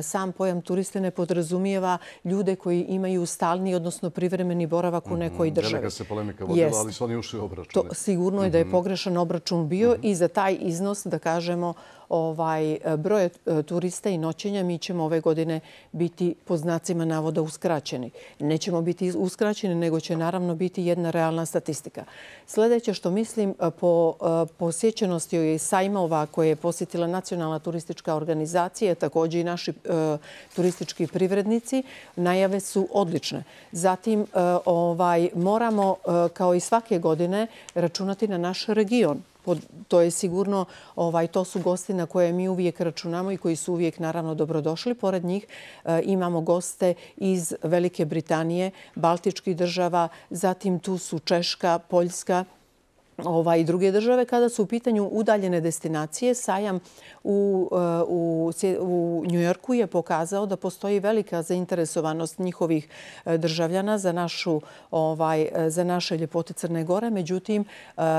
Sam pojam turiste ne podrazumijeva ljude koji imaju stalni, odnosno privremeni boravak u nekoj državi. Velika se polemika vodila, ali su oni ušli u obračun. Sigurno je da je pogrešan obračun bio i za taj iznos, da kažemo, ovaj broj turista i noćenja mi ćemo ove godine biti po znacima navoda uskraćeni. Nećemo biti uskraćeni, nego će naravno biti jedna realna statistika. Sljedeće što mislim po posjećenosti sajmova koje je posjetila Nacionalna turistička organizacija, također i naši turistički privrednici, najave su odlične. Zatim ovaj, moramo kao i svake godine računati na naš region. To je sigurno, ovaj, to su gosti na koje mi uvijek računamo i koji su uvijek naravno dobrodošli. Pored njih e, imamo goste iz Velike Britanije, Baltičkih država, zatim tu su Češka, Poljska, i druge države. Kada su u pitanju udaljene destinacije, sajam u, u, u Njujorku je pokazao da postoji velika zainteresovanost njihovih državljana za, našu, ovaj, za naše ljepote Crne Gore. Međutim,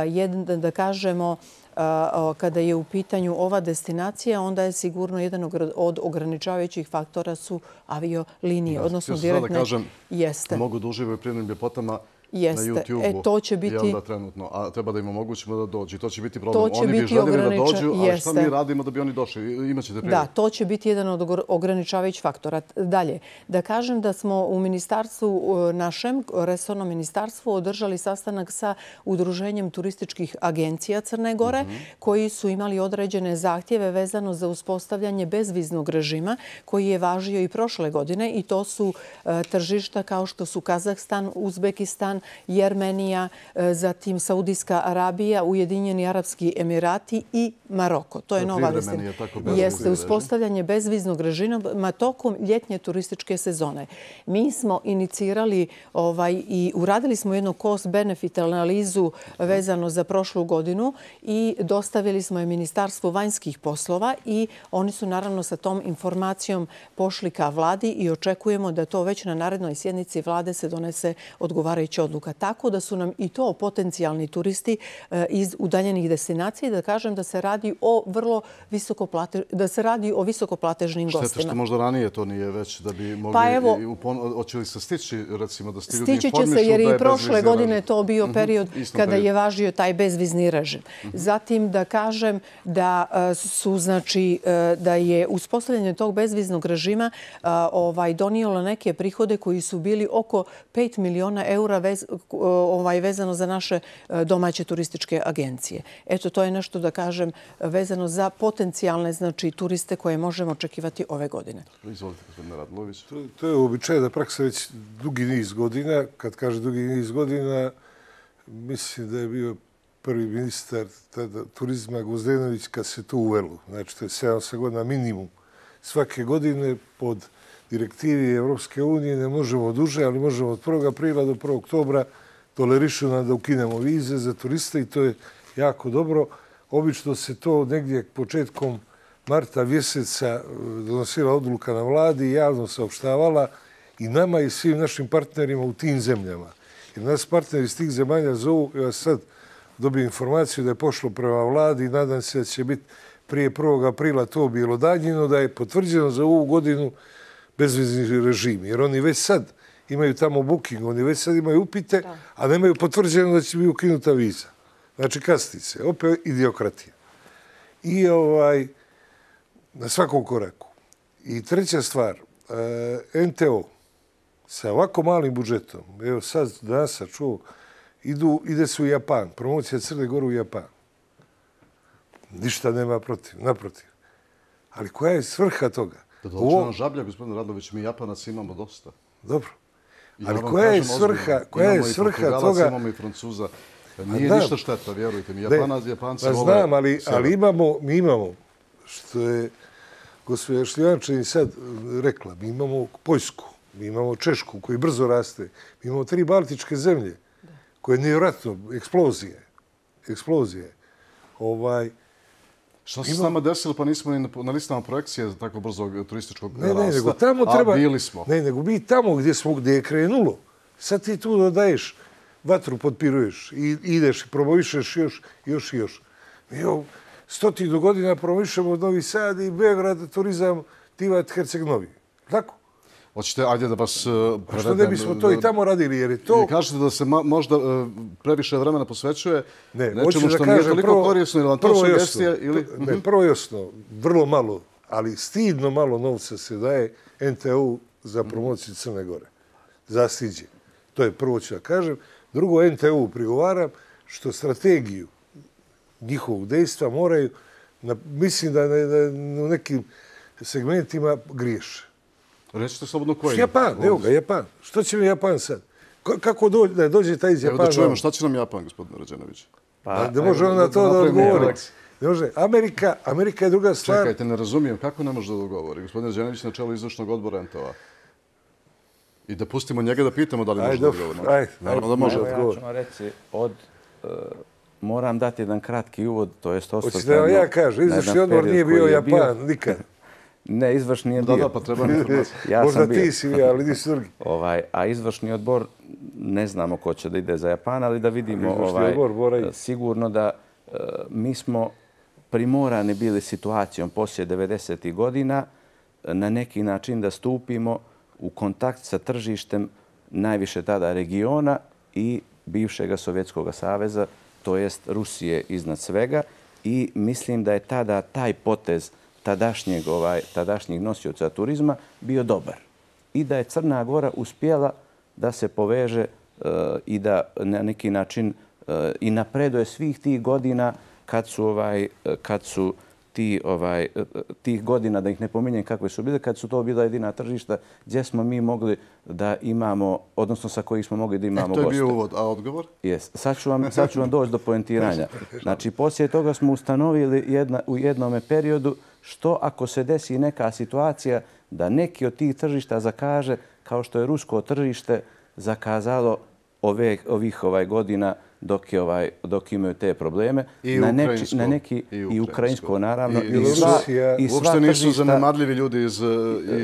jedan, da kažemo, kada je u pitanju ova destinacija, onda je sigurno jedan od ograničavajućih faktora su aviolinije, odnosno direktne. Da kažem, jeste. Mogu da uživaju prirodnim ljepotama Jeste. na YouTube-u. E, to će biti... Da, trenutno. A treba da im omogućimo da dođu. To će biti problem. To će oni biti bi željeli ograniča... da dođu, ali Jeste. šta mi radimo da bi oni došli? Imaćete priliku. Da, to će biti jedan od ograničavajućih faktora. Dalje, da kažem da smo u ministarstvu, našem resornom ministarstvu, održali sastanak sa Udruženjem turističkih agencija Crne Gore, mm-hmm. koji su imali određene zahtjeve vezano za uspostavljanje bezviznog režima, koji je važio i prošle godine, i to su e, tržišta kao što su Kazahstan, Uzbekistan, Jermenija, zatim Saudijska Arabija, Ujedinjeni Arapski Emirati i Maroko. To je to nova destinacija. Jeste uspostavljanje bezviznog režima tokom ljetnje turističke sezone. Mi smo inicirali ovaj, i uradili smo jednu cost-benefit analizu vezano za prošlu godinu i dostavili smo je Ministarstvu vanjskih poslova i oni su naravno sa tom informacijom pošli ka vladi i očekujemo da to već na narednoj sjednici vlade se donese odgovarajuća odluka. Tako da su nam i to potencijalni turisti iz udaljenih destinacija i da kažem da se radi o vrlo visokoplate, da se radi o visokoplatežnim gostima. Šteta što možda ranije to nije već da bi mogli... Pa evo, hoće li se stići, recimo, da ste ljudi stići informišu će se jer da je i prošle godine režim. to bio period mm-hmm. kada period. je važio taj bezvizni režim. Mm-hmm. Zatim da kažem da su, znači, da je uspostavljanje tog bezviznog režima ovaj, donijelo neke prihode koji su bili oko pet miliona eura vez, ovaj, vezano za naše domaće turističke agencije. Eto, to je nešto da kažem vezano za potencijalne, znači, turiste koje možemo očekivati ove godine. Izvolite, gospodine Radulović. To, to je uobičajena praksa već dugi niz godina. Kad kaže dugi niz godina, mislim da je bio prvi ministar tada, turizma Gvozdenović kad se to uvelo. Znači, to je sedam godina minimum. Svake godine pod direktivi Evropske unije ne možemo duže, ali možemo od prvog aprila do prvog oktobra tolerišu nam da ukinemo vize za turiste i to je jako dobro. Obično se to negdje početkom marta mjeseca donosila odluka na vladi i javno saopštavala i nama i svim našim partnerima u tim zemljama. Jer nas partneri iz tih zemalja zovu, ja sad dobio informaciju da je pošlo prema vladi i nadam se da će biti prije prvog aprila to bilo danjeno, da je potvrđeno za ovu godinu bezvizni režim. Jer oni već sad imaju tamo booking, oni već sad imaju upite, a nemaju potvrđeno da će biti ukinuta viza. Znači, kasnice, opet idiokratija. I ovaj, na svakom koraku. I treća stvar, N T O sa ovako malim budžetom, evo sad danas sam čuo, idu, ide se u Japan, promocija Crne Gore u Japan. Ništa nema protiv, naprotiv. Ali koja je svrha toga? Da dođe nam žablja, gospodin Radlović, mi Japanac imamo dosta. Dobro. Ali koja je svrha, koja je svrha toga? Imamo i Francuza. Nije ništa šteta, vjerujte mi. Japanac, Japanci vole... Znam, ali imamo, mi imamo, što je gospođa Šljivančanin sad rekla, mi imamo Poljsku, mi imamo Češku koji brzo raste, mi imamo tri baltičke zemlje koje je nevjerojatno, eksplozije, eksplozije. Ovaj, Što se s nama desilo, pa nismo ni na listama projekcije za tako brzog turističkog ne, rasta, ne, nego tamo treba, a bili smo. Ne, nego mi tamo gdje smo, gdje je krenulo, sad ti tu dodaješ, vatru potpiruješ i ideš i promovišeš još, još i još. Mi evo, stotinu godina promovišemo Novi Sad i Beograd, turizam, Tivat, Herceg Novi. Tako? Hoćete, ajde da vas prevedem... Što ne bismo to i tamo radili, jer je to... Kažete da se možda previše vremena posvećuje nečemu što nije toliko prvo, korisno, ili vam to sugestija, ili... Ne, prvo jasno, vrlo malo, ali stidno malo novca se daje N T O za promociju Crne Gore. Zastiđe. To je prvo ću da kažem. Drugo, N T O prigovaram što strategiju njihovog dejstva moraju, na, mislim da, ne, da u nekim segmentima griješe. Rećete slobodno koji? Japan, evo ga, Japan. Što će mi Japan sad? Kako dođe, da dođe taj iz Japana? Evo da čujemo, šta će nam Japan, gospodin Rađenović? Pa, ne može on na to da odgovori. Ne može. Amerika, Amerika je druga stvar. Čekajte, ne razumijem, kako ne može da odgovori? Gospodin Rađenović na čelu izvršnog odbora N T O-a. I da pustimo njega da pitamo da li može da odgovori. Ajde, naravno da može da odgovori. Ja ću vam reći, od, uh, moram dati jedan kratki uvod, to jest osvrt. Hoćete da ja kažem, izvršni odbor nije bio Japan, nikad. Ne, izvršni je bio. Da, da, pa treba informacija. Ja možda ti si bio, ali nisi drugi. Ovaj, a izvršni odbor, ne znamo ko će da ide za Japan, ali da vidimo, ovaj, odbor, sigurno da uh, mi smo primorani bili situacijom poslije devedesetih godina na neki način da stupimo u kontakt sa tržištem najviše tada regiona i bivšeg Sovjetskog saveza, to jest Rusije iznad svega. I mislim da je tada taj potez tadašnjeg, ovaj, tadašnjeg nosioca turizma bio dobar. I da je Crna Gora uspjela da se poveže uh, i da na neki način uh, i napreduje svih tih godina kad su, ovaj, kad su ti, ovaj, tih godina, da ih ne pominjem kakve su bile, kad su to bila jedina tržišta gdje smo mi mogli da imamo, odnosno sa kojih smo mogli da imamo goste. E, to je bio uvod, a odgovor? Jes. Sad ću vam, sad ću vam doći do poentiranja. Znači, poslije toga smo ustanovili jedna, u jednom periodu što ako se desi neka situacija da neki od tih tržišta zakaže, kao što je rusko tržište zakazalo ove, ovih ovaj godina dok, je ovaj, dok imaju te probleme. I na ukrajinsko. Neki, na neki, I ukrajinsko, I ukrajinsko naravno. I, i, sva, i sva uopšte nisu zanemarljivi ljudi iz,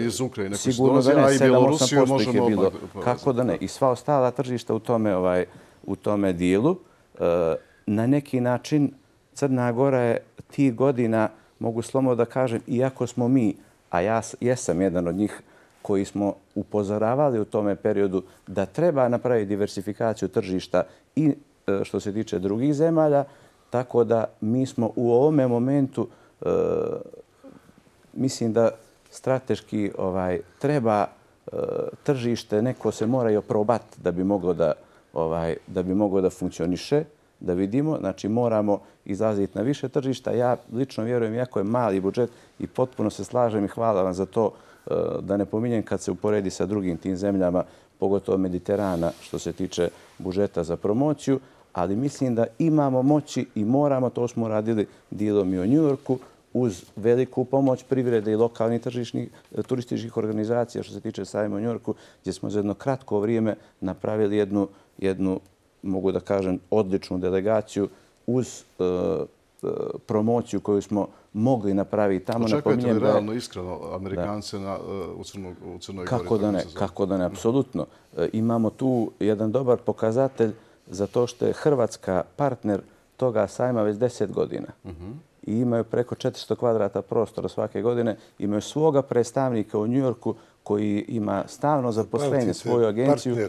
iz Ukrajine. Sigurno da ne, sedam do osam posto ih je bilo. Kako da ne? I sva ostala tržišta u tome, ovaj, u tome dijelu. Na neki način Crna Gora je tih godina, mogu slobodno da kažem, iako smo mi, a ja jesam jedan od njih, koji smo upozoravali u tome periodu da treba napraviti diversifikaciju tržišta i što se tiče drugih zemalja, tako da mi smo u ovome momentu, e, mislim da strateški ovaj, treba e, tržište, neko se mora i oprobati da bi moglo da, ovaj, da bi moglo da funkcioniše, da vidimo. Znači moramo izlaziti na više tržišta. Ja lično vjerujem, iako je mali budžet i potpuno se slažem i hvala vam za to, da ne pominjem kad se uporedi sa drugim tim zemljama, pogotovo Mediterana, što se tiče budžeta za promociju, ali mislim da imamo moći i moramo, to smo radili dijelom i u Njujorku, uz veliku pomoć privrede i lokalnih tržišnih turističkih organizacija, što se tiče sajma u Njujorku, gdje smo za jedno kratko vrijeme napravili jednu, jednu mogu da kažem, odličnu delegaciju uz uh, promociju koju smo mogli napraviti tamo. Očekujete li realno, iskreno, Amerikance u Crnoj Gori? Kako da ne, kako da ne, apsolutno. Imamo tu jedan dobar pokazatelj za to što je Hrvatska partner toga sajma već deset godina. I imaju preko četiristo kvadrata prostora svake godine. Imaju svoga predstavnika u Njujorku koji ima stalno zaposlenje, svoju agenciju.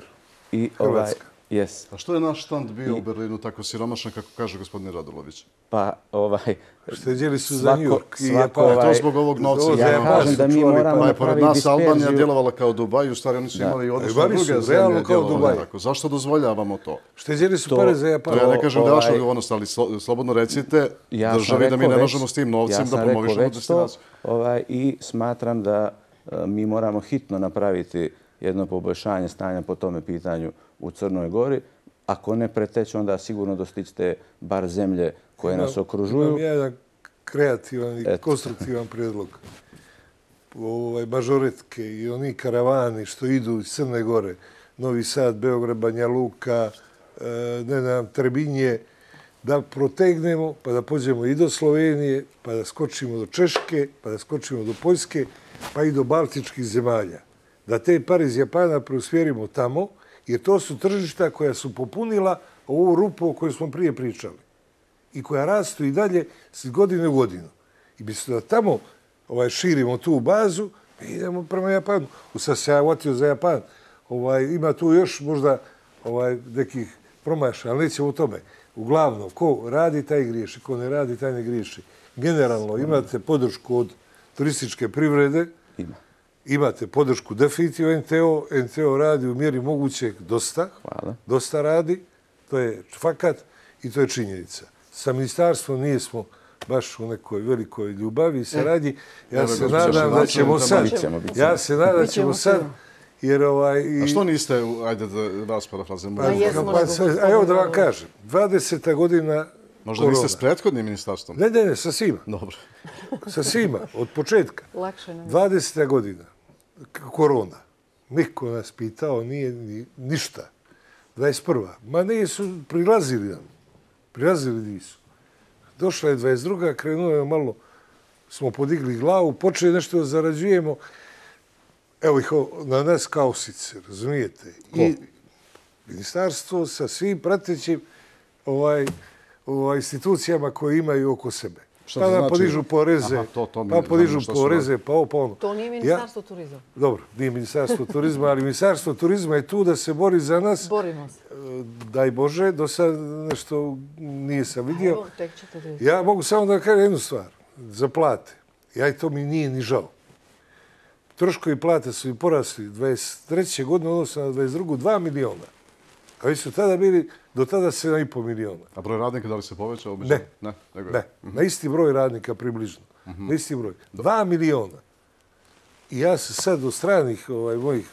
I Hrvatska. Yes. A što je naš štand bio u Berlinu tako siromašan, kako kaže gospodin Radulović? Pa, ovaj... Štedjeli su za New York. Ovaj, to zbog ovog novca. Ja kažem da mi moramo napraviti pored nas Albanija djelovala kao Dubaj, u stvari oni su imali i odnosno druge zemlje djelovali tako. Zašto dozvoljavamo to? Štedjeli su pare za Japan. Ja ne kažem da je vaša odgovornost, ali slobodno recite državi da mi ne možemo s tim novcem da promovišemo destinaciju. I smatram da mi moramo hitno napraviti jedno poboljšanje stanja po tome pitanju u Crnoj Gori. Ako ne preteće, onda sigurno dostićete bar zemlje koje nas okružuju. Imam jedan kreativan i konstruktivan prijedlog. Mažoretke i oni karavani što idu iz Crne Gore, Novi Sad, Beograd, Banja Luka, ne znam, Trebinje, da protegnemo pa da pođemo i do Slovenije, pa da skočimo do Češke, pa da skočimo do Poljske, pa i do Baltičkih zemalja. Da te pare iz Japana preusmjerimo tamo, jer to su tržišta koja su popunila ovu rupu o kojoj smo prije pričali i koja rastu i dalje s godine u godinu. I bi se da tamo širimo tu bazu, mi idemo prema Japanu. Sad se ja uvotio za Japan. Ima tu još možda nekih promaša, ali nećemo u tome. Uglavnom, ko radi, taj griješi. Ko ne radi, taj ne griješi. Generalno, imate podršku od turističke privrede. Ima. Imate podršku definitivno en te o. en te o radi u mjeri mogućeg dosta. Hvala. Dosta radi. To je fakat i to je činjenica. Sa ministarstvom nijesmo baš u nekoj velikoj ljubavi i saradnji. Ja se nadam da ćemo sad. Ja se nadam da ćemo sad. A što niste, ajde da vas parafrazimo? A evo da vam kažem. dvadeseta godina Možda niste s prethodnim ministarstvom? Ne, ne, ne, sa svima. Dobro. Sa svima, od početka. Lakše nam je. dvadeseta godina, korona. Niko nas pitao, nije ništa. dvadeset prva. Ma nisu, prilazili nam. Prilazili nisu. Došla je dvadeset druga, krenuo je malo, smo podigli glavu, počeli nešto da zarađujemo. Evo ih na nas kausice, razumijete? I ministarstvo sa svim pratećim institucijama koje imaju oko sebe. Pa da podižu poreze, pa podižu poreze, pa ovo, pa ono. To nije ministarstvo turizma. Dobro, nije ministarstvo turizma, ali ministarstvo turizma je tu da se bori za nas. Borimo se. Daj Bože, do sad nešto nije sam vidio. Ja mogu samo da kažem jednu stvar. Za plate. Ja i to mi nije ni žao. Troškovi plate su i porasli dvadeset treće godine, odnosno na dvadeset drugu dva miliona. A vi su tada bili do tada sedam i pol miliona. A broj radnika da li se povećao? Ne, ne. Na isti broj radnika približno. Na isti broj. Dva miliona. I ja se sad od stranih mojih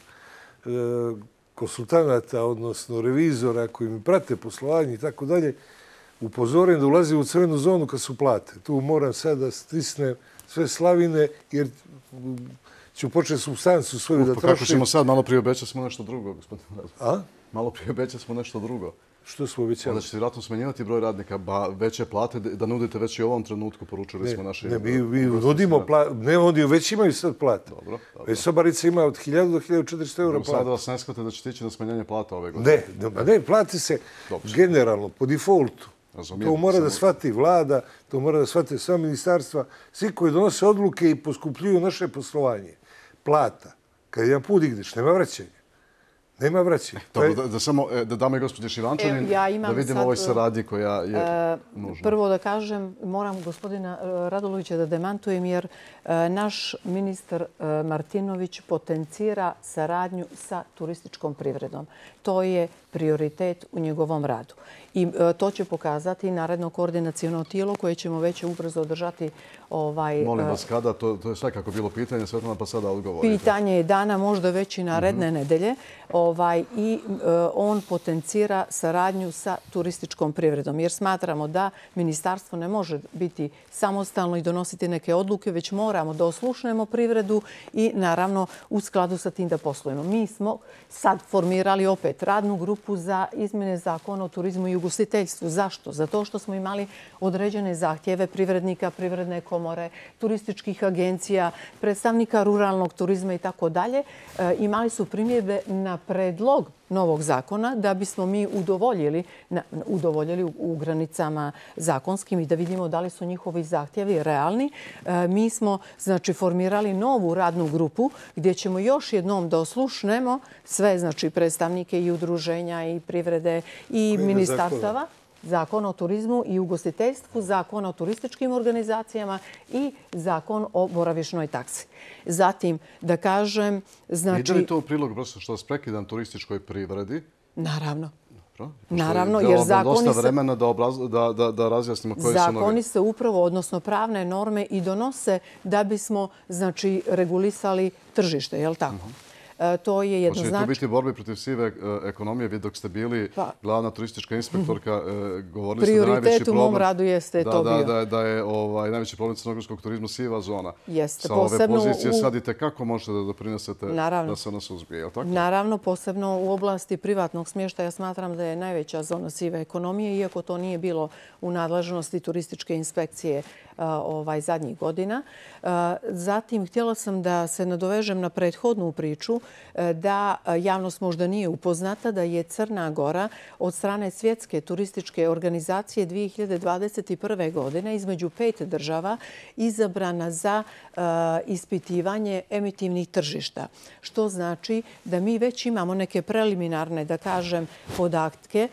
konsultanata, odnosno revizora koji mi prate poslovanje i tako dalje, upozorim da ulazim u crvenu zonu kad su plate. Tu moram sad da stisnem sve slavine jer ću početi substancu svoju da trošim. Kako ćemo sad? Malo prije obećali smo nešto drugo, gospodin Radović. A? Malo prije obećali smo nešto drugo. Što smo obećali? Da ćete vjerojatno smenjivati broj radnika, veće plate, da nudite već i u ovom trenutku, poručili smo naše... Ne, mi nudimo plate, ne oni već imaju sad plate. Dobro, dobro. Već Sobarica ima od hiljadu do hiljadu četiristo eura plate. Sada vas ne shvate da ćete ići na smenjanje plata ove godine. Ne, ne, plati se generalno, po defaultu. To mora da shvati vlada, to mora da shvate sva ministarstva, svi koji donose odluke i poskupljuju naše poslovanje. Plata. Kad jedan put igneš, nema vraćanja. Nema vraćanja. Da samo, da dame i gospođe Šivančanin, da vidimo ovoj saradnji koja je nužna. Prvo da kažem, moram gospodina Radulovića da demantujem, jer naš ministar Martinović potencira saradnju sa turističkom privredom. To je prioritet u njegovom radu. I to će pokazati naredno koordinacijono tijelo koje ćemo već ubrzo održati. Molim vas, kada? To je svakako bilo pitanje, Svetlana, pa sada odgovorite. Pitanje je dana, možda već i naredne nedelje. i on potencira saradnju sa turističkom privredom. Jer smatramo da ministarstvo ne može biti samostalno i donositi neke odluke, već moramo da oslušnemo privredu i naravno u skladu sa tim da poslujemo. Mi smo sad formirali opet radnu grupu za izmjene zakona o turizmu i ugostiteljstvu. Zašto? Zato što smo imali određene zahtjeve privrednika, privredne komore, turističkih agencija, predstavnika ruralnog turizma i tako dalje. Imali su primjedbe na predlog novog zakona da bismo mi udovoljili, udovoljili u granicama zakonskim i da vidimo da li su njihovi zahtjevi realni. Mi smo znači formirali novu radnu grupu gdje ćemo još jednom da oslušnemo sve znači predstavnike i udruženja i privrede i ministarstava. Zakon o turizmu i ugostiteljstvu, zakon o turističkim organizacijama i zakon o boravišnoj taksi. Zatim, da kažem... Znači... Ide li to u prilog, prosto što vas prekidam, turističkoj privredi? Naravno. Dobro. Naravno, jer zakoni se... dosta vremena da, obraz... da, da, da razjasnimo koje su novi. Zakoni se upravo, odnosno pravne norme i donose da bismo znači, regulisali tržište, je li tako? Uh-huh. To je jednoznačno. Hoće li to biti borbi protiv sive ekonomije? Vi dok ste bili glavna turistička inspektorka, govorili ste da najveći problem... Prioritet u mom radu jeste to bio. Da, da je ovaj, najveći problem crnogorskog turizma siva zona. Jeste. Sa ove pozicije sad i tekako možete da doprinesete da se ona suzbije, je li tako? Naravno, posebno u oblasti privatnog smještaja smatram da je najveća zona sive ekonomije, iako to nije bilo u nadležnosti turističke inspekcije ovaj, zadnjih godina. Zatim, htjela sam da se nadovežem na prethodnu priču da javnost možda nije upoznata da je Crna Gora od strane Svjetske turističke organizacije dvije hiljade dvadeset prve. godine između pet država izabrana za ispitivanje emitivnih tržišta. Što znači da mi već imamo neke preliminarne, da kažem, podatke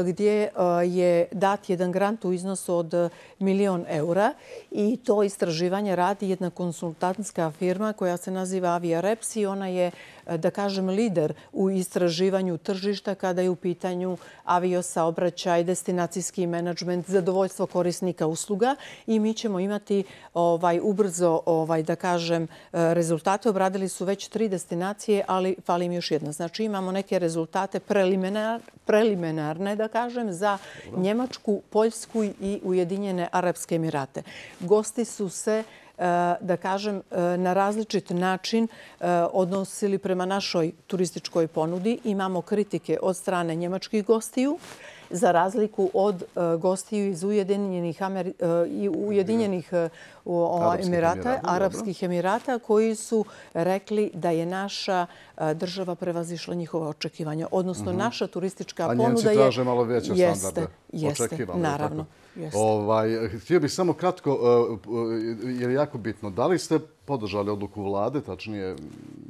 gdje je dat jedan grant u iznosu od milion eura i to istraživanje radi jedna konsultantska firma koja se naziva Aviareps i ona je, da kažem, lider u istraživanju tržišta kada je u pitanju aviosaobraćaj, destinacijski menadžment, zadovoljstvo korisnika usluga i mi ćemo imati ovaj, ubrzo, ovaj, da kažem, rezultate. Obradili su već tri destinacije, ali fali im još jedna. Znači imamo neke rezultate preliminar, preliminarne, da kažem, za Njemačku, Poljsku i Ujedinjene Arapske Emirate. Gosti su se, da kažem, na različit način odnosili prema našoj turističkoj ponudi. Imamo kritike od strane njemačkih gostiju, za razliku od gostiju iz Ujedinjenih, Ameri... Ujedinjenih Emirata, Arapskih Emirata, koji su rekli da je naša država prevazišla njihova očekivanja. Odnosno, naša turistička ponuda je... A Njemci traže malo veće standarde. Jeste, naravno. Ovaj, htio bih samo kratko, jer je jako bitno, da li ste podržali odluku vlade, tačnije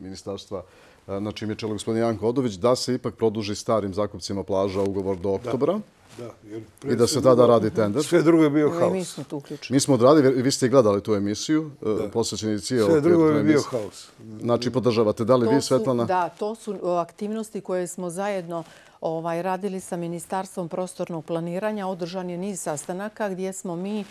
ministarstva na čim je čelo gospodin Janko Odović, da se ipak produži starim zakupcima plaža ugovor do oktobra? Da, i da se tada radi tender. Sve drugo je bio haos. Mi smo tu uključeni. Mi smo odradili, vi ste i gledali tu emisiju, posvećeni cijel Sve drugo je bio haos. Znači, podržavate. Da li vi, Svetlana? Da, to su aktivnosti koje smo zajedno Ovaj, radili sa Ministarstvom prostornog planiranja. Održan je niz sastanaka gdje smo mi e,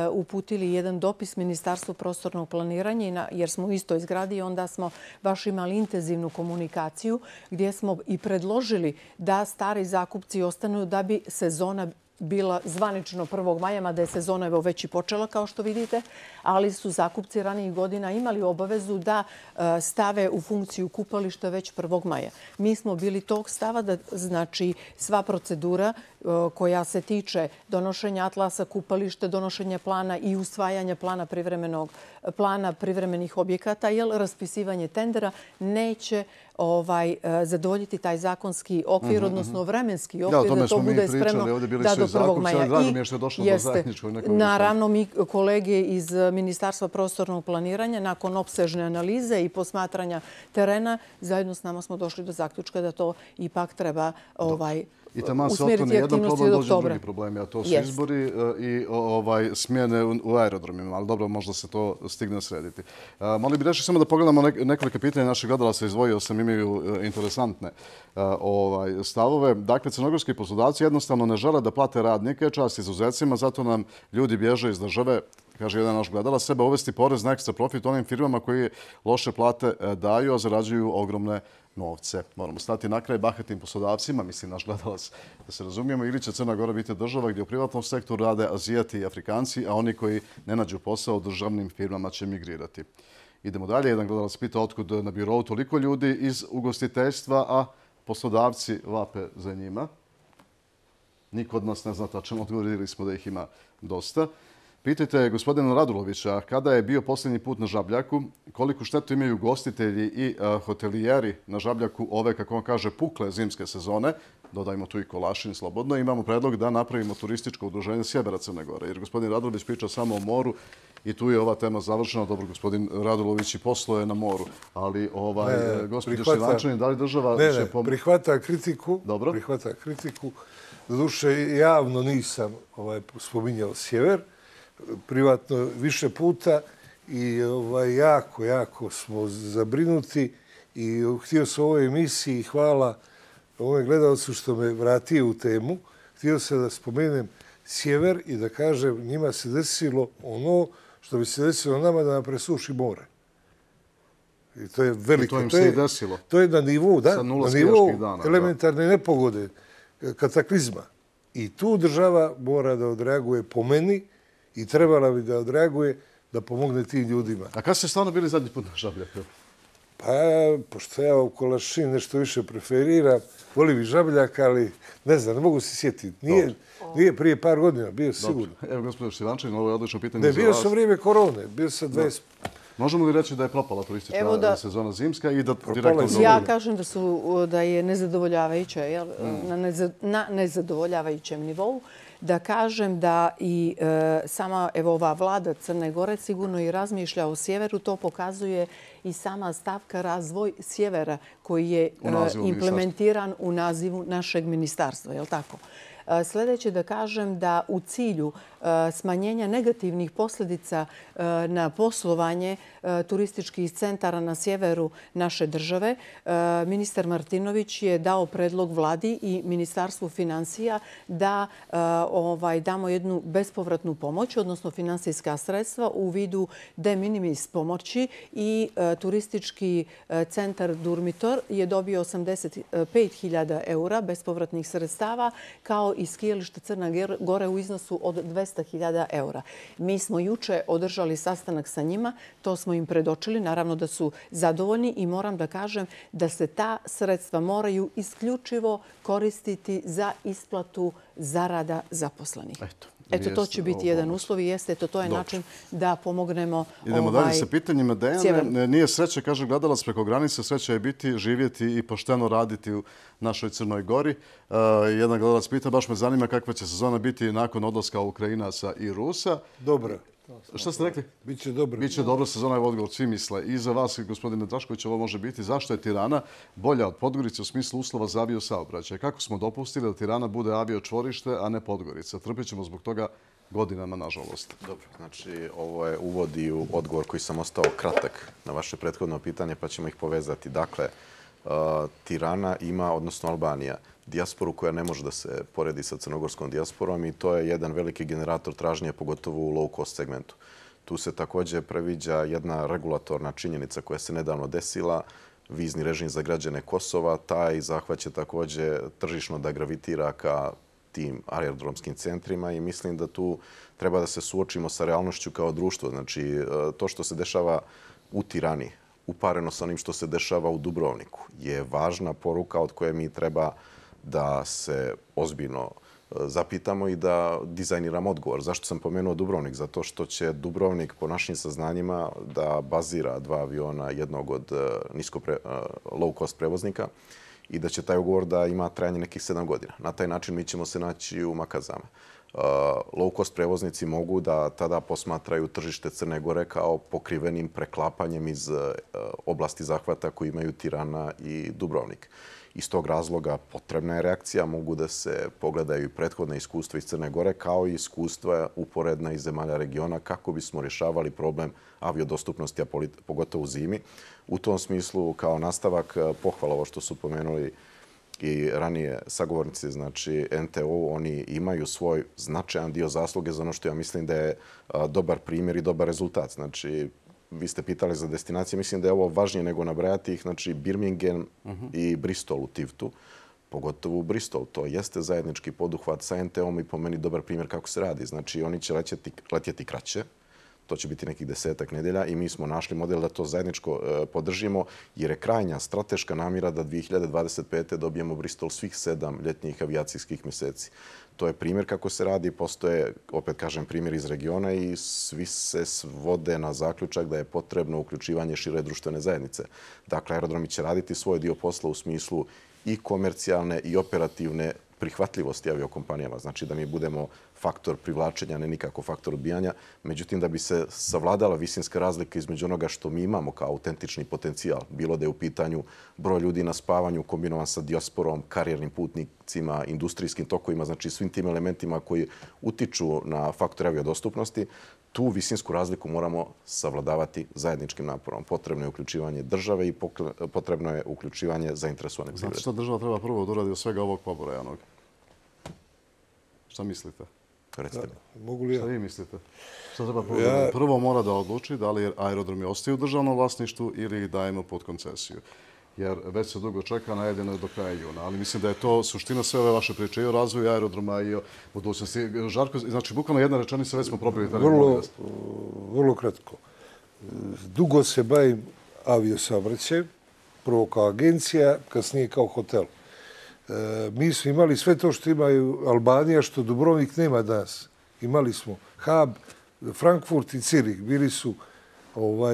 uputili jedan dopis Ministarstvu prostornog planiranja jer smo u istoj zgradi i onda smo baš imali intenzivnu komunikaciju gdje smo i predložili da stari zakupci ostanu da bi sezona bila zvanično prvog maja, mada je sezona evo već i počela, kao što vidite, ali su zakupci ranijih godina imali obavezu da stave u funkciju kupališta već prvog maja. Mi smo bili tog stava da znači sva procedura koja se tiče donošenja atlasa kupališta, donošenja plana i usvajanja plana privremenog plana privremenih objekata, jer raspisivanje tendera neće ovaj, zadovoljiti taj zakonski okvir, odnosno vremenski okvir, da to bude spremno da do prvog maja. Drago mi je što je došlo do zajedničkog nekog. Naravno, mi kolege iz Ministarstva prostornog planiranja, nakon opsežne analize i posmatranja terena, zajedno s nama smo došli do zaključka da to ipak treba ovaj, I tamo se otkloni jedan problem, dođe drugi problemi, a to su izbori i ovaj, smjene u aerodromima. Ali dobro, možda se to stigne srediti. Mali bi rešli samo da pogledamo nekoliko pitanja naših gledala se izdvojio sam, imaju interesantne ovaj, stavove. Dakle, crnogorski poslodavci jednostavno ne žele da plate radnike, čast izuzecima, zato nam ljudi bježe iz države. Kaže jedan naš gledala, sebe uvesti porez na ekstra profit onim firmama koji loše plate daju, a zarađuju ogromne novce. Moramo stati na kraj bahatim poslodavcima, mislim naš gledalac, da se razumijemo, ili će Crna Gora biti država gdje u privatnom sektoru rade Azijati i Afrikanci, a oni koji ne nađu posao u državnim firmama će migrirati. Idemo dalje. Jedan gledalac pita otkud na birou toliko ljudi iz ugostiteljstva, a poslodavci vape za njima. Niko od nas ne zna tačno, odgovorili smo da ih ima dosta. Pitajte gospodina Radulovića kada je bio posljednji put na Žabljaku, koliko štetu imaju gostitelji i hotelijeri na Žabljaku ove, kako on kaže, pukle zimske sezone. Dodajmo tu i Kolašin slobodno. Imamo predlog da napravimo turističko udruženje sjevera Crne Gore. Jer gospodin Radulović priča samo o moru i tu je ova tema završena. Dobro, gospodin Radulović i posluje na moru. Ali, gospođo Šljivančanin, da li država će pomoći? Ne, ne, prihvata kritiku. Dobro. Prihvata kritiku. Doduše, javno nisam spominjao sjever. Privatno više puta i jako, jako smo zabrinuti i htio sam u ovoj emisiji, hvala ovome gledalcu što me vratio u temu, htio sam da spomenem sjever i da kažem njima se desilo ono što bi se desilo nama da nam presuši more. I to je veliko. To im se i desilo. To je na nivou, da, na nivou elementarne nepogode, kataklizma. I tu država mora da odreaguje po meni i trebala bi da odreaguje da pomogne tim ljudima. A kada ste stvarno bili zadnji put na Žabljaku? Pa, pošto ja u Kolašin nešto više preferiram, volim i Žabljak, ali ne znam, ne mogu se sjetiti. Nije prije par godina, bio sigurno. Evo, gospodin Šljivančanin, ovo je odlično pitanje za vas. Ne, bio sam vrijeme korone, bio sam dvadeset... Možemo li reći da je propala turistička sezona zimska i da direktno... Ja kažem da je nezadovoljavajuća, na nezadovoljavajućem nivou. Da kažem da i sama ova vlada Crne Gore sigurno i razmišlja o sjeveru. To pokazuje i sama stavka razvoj sjevera koji je implementiran u nazivu našeg ministarstva. Je li tako? Sljedeće da kažem da u cilju smanjenja negativnih posljedica na poslovanje turističkih centara na sjeveru naše države, ministar Martinović je dao predlog vladi i Ministarstvu financija da damo jednu bespovratnu pomoć, odnosno finansijska sredstva u vidu de minimis pomoći i turistički centar Durmitor je dobio osamdeset pet hiljada eura bespovratnih sredstava kao i skijalište Crna Gore u iznosu od dvesta hiljada eura. Mi smo juče održali sastanak sa njima, to smo im predočili, naravno da su zadovoljni i moram da kažem da se ta sredstva moraju isključivo koristiti za isplatu zarada zaposlenih. Eto, to će biti jedan uslov i jeste, to je način da pomognemo sjeveru. Idemo dalje sa pitanjima. Dejane, nije sreće, kaže gledalac preko granice, sreća je biti, živjeti i pošteno raditi u našoj Crnoj Gori. Jedan gledalac pita, baš me zanima kakva će sezona biti nakon odlaska Ukrajinaca i Rusa. Dobra. Šta ste rekli? Biće dobro. Biće dobro sezona, je odgovor, svi misle. I za vas, gospodine Drašković, ovo može biti. Zašto je Tirana bolja od Podgorice u smislu uslova za avio saobraćaj? Kako smo dopustili da Tirana bude avio čvorište, a ne Podgorica? Trpit ćemo zbog toga godinama, nažalost. Dobro, znači ovo je uvodi u odgovor koji sam ostao kratak na vaše prethodno pitanje, pa ćemo ih povezati. Dakle, Tirana ima, odnosno Albanija, dijasporu koja ne može da se poredi sa crnogorskom dijasporom i to je jedan veliki generator tražnje, pogotovo u low cost segmentu. Tu se također previđa jedna regulatorna činjenica koja se nedavno desila, vizni režim za građane Kosova. Taj zahvat će također tržišno da gravitira ka tim aerodromskim centrima i mislim da tu treba da se suočimo sa realnošću kao društvo. Znači, to što se dešava u Tirani, upareno sa onim što se dešava u Dubrovniku, je važna poruka od koje mi treba da se ozbiljno zapitamo i da dizajniramo odgovor. Zašto sam pomenuo Dubrovnik? Zato što će Dubrovnik, po našim saznanjima, da bazira dva aviona, jednog od nisko low cost prevoznika i da će taj ugovor da ima trajanje nekih sedam godina. Na taj način mi ćemo se naći u makazama. Low cost prevoznici mogu da tada posmatraju tržište Crne Gore kao pokrivenim preklapanjem iz oblasti zahvata koji imaju Tirana i Dubrovnik. Iz tog razloga potrebna je reakcija, mogu da se pogledaju i prethodne iskustva iz Crne Gore kao i iskustva uporedna iz zemalja regiona kako bismo rješavali problem aviodostupnosti, a pogotovo u zimi. U tom smislu, kao nastavak, pohvala ovo što su pomenuli i ranije sagovornici, znači N T O, oni imaju svoj značajan dio zasluge za ono što ja mislim da je dobar primjer i dobar rezultat. Znači, vi ste pitali za destinacije, mislim da je ovo važnije nego nabrajati ih, znači Birmingham i Bristol u Tivtu, pogotovo u Bristol. To jeste zajednički poduhvat sa en te om i po meni dobar primjer kako se radi. Znači oni će letjeti kraće, to će biti nekih desetak nedelja i mi smo našli model da to zajedničko podržimo jer je krajnja strateška namjera da dvije hiljade dvadeset pete dobijemo Bristol svih sedam ljetnjih avijacijskih mjeseci. To je primjer kako se radi, postoje, opet kažem, primjer iz regiona i svi se svode na zaključak da je potrebno uključivanje šire društvene zajednice. Dakle, aerodromi će raditi svoj dio posla u smislu i komercijalne i operativne prihvatljivosti aviokompanijama. Znači da mi budemo faktor privlačenja, ne nikako faktor odbijanja. Međutim, da bi se savladala visinska razlika između onoga što mi imamo kao autentični potencijal, bilo da je u pitanju broj ljudi na spavanju kombinovan sa dijasporom, karijernim putnicima, industrijskim tokovima, znači svim tim elementima koji utiču na faktor aviodostupnosti, tu visinsku razliku moramo savladavati zajedničkim naporom. Potrebno je uključivanje države i potrebno je uključivanje zainteresovanih privreda. Znate što država treba prvo da uradi od svega ovog pobrojanog? Šta mislite? Recite mi. Mogu li ja? Šta vi mislite? Šta treba prvo da uradi? Prvo mora da odluči da li aerodromi ostaju u državnom vlasništvu ili ih dajemo pod koncesiju. Jer već se dugo čeka, najavljeno je do kraja juna. Ali mislim da je to suština sve ove vaše priče i o razvoju aerodroma i o budućnosti. Žarko, znači, bukvalno jedna rečenica, već smo probili. Vrlo, vrlo kratko. Dugo se bavim aviosaobraćajem, prvo kao agencija, kasnije kao hotel. Mi smo imali sve to što imaju Albanija, što Dubrovnik nema danas. Imali smo hub, Frankfurt i Cirih. Bili su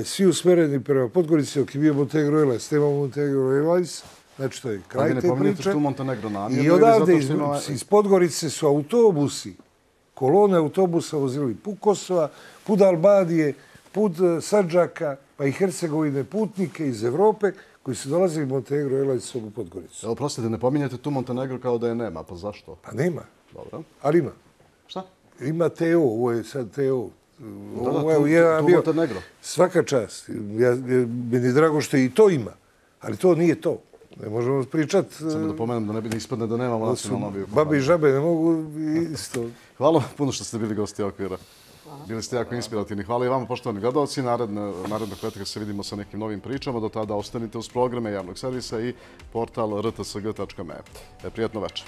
svi usmereni prema Podgorici, dok je bio Montenegro Airlines. Nema Montenegro Airlines, znači to je kraj te priče. I odavde iz Podgorice su autobusi, kolone autobusa vozili put Kosova, put Albanije, put Sandžaka, pa i Hercegovine putnike iz Evrope, koji su dolazili Montenegro Airlinesom u Podgoricu. Evo, prostite, ne pominjate tu Montenegro kao da je nema, pa zašto? Pa nema. Dobro. Ali ima. Šta? Ima te o, ovo je sad te o. Da, da, tu Montenegro. Svaka čast. Meni je drago što i to ima, ali to nije to. Ne možemo pričati... Samo da pomenem da ne bi ispadne da nemamo nacionalno aviokompaniju. Babe i žabe ne mogu isto. Hvala puno što ste bili gosti Okvira. Bili ste jako inspirativni. Hvala i vama, poštovani gledalci. Narednog petka se vidimo sa nekim novim pričama. Do tada ostanite uz programe javnog servisa i portal r t s g tačka m e. Prijetno večer.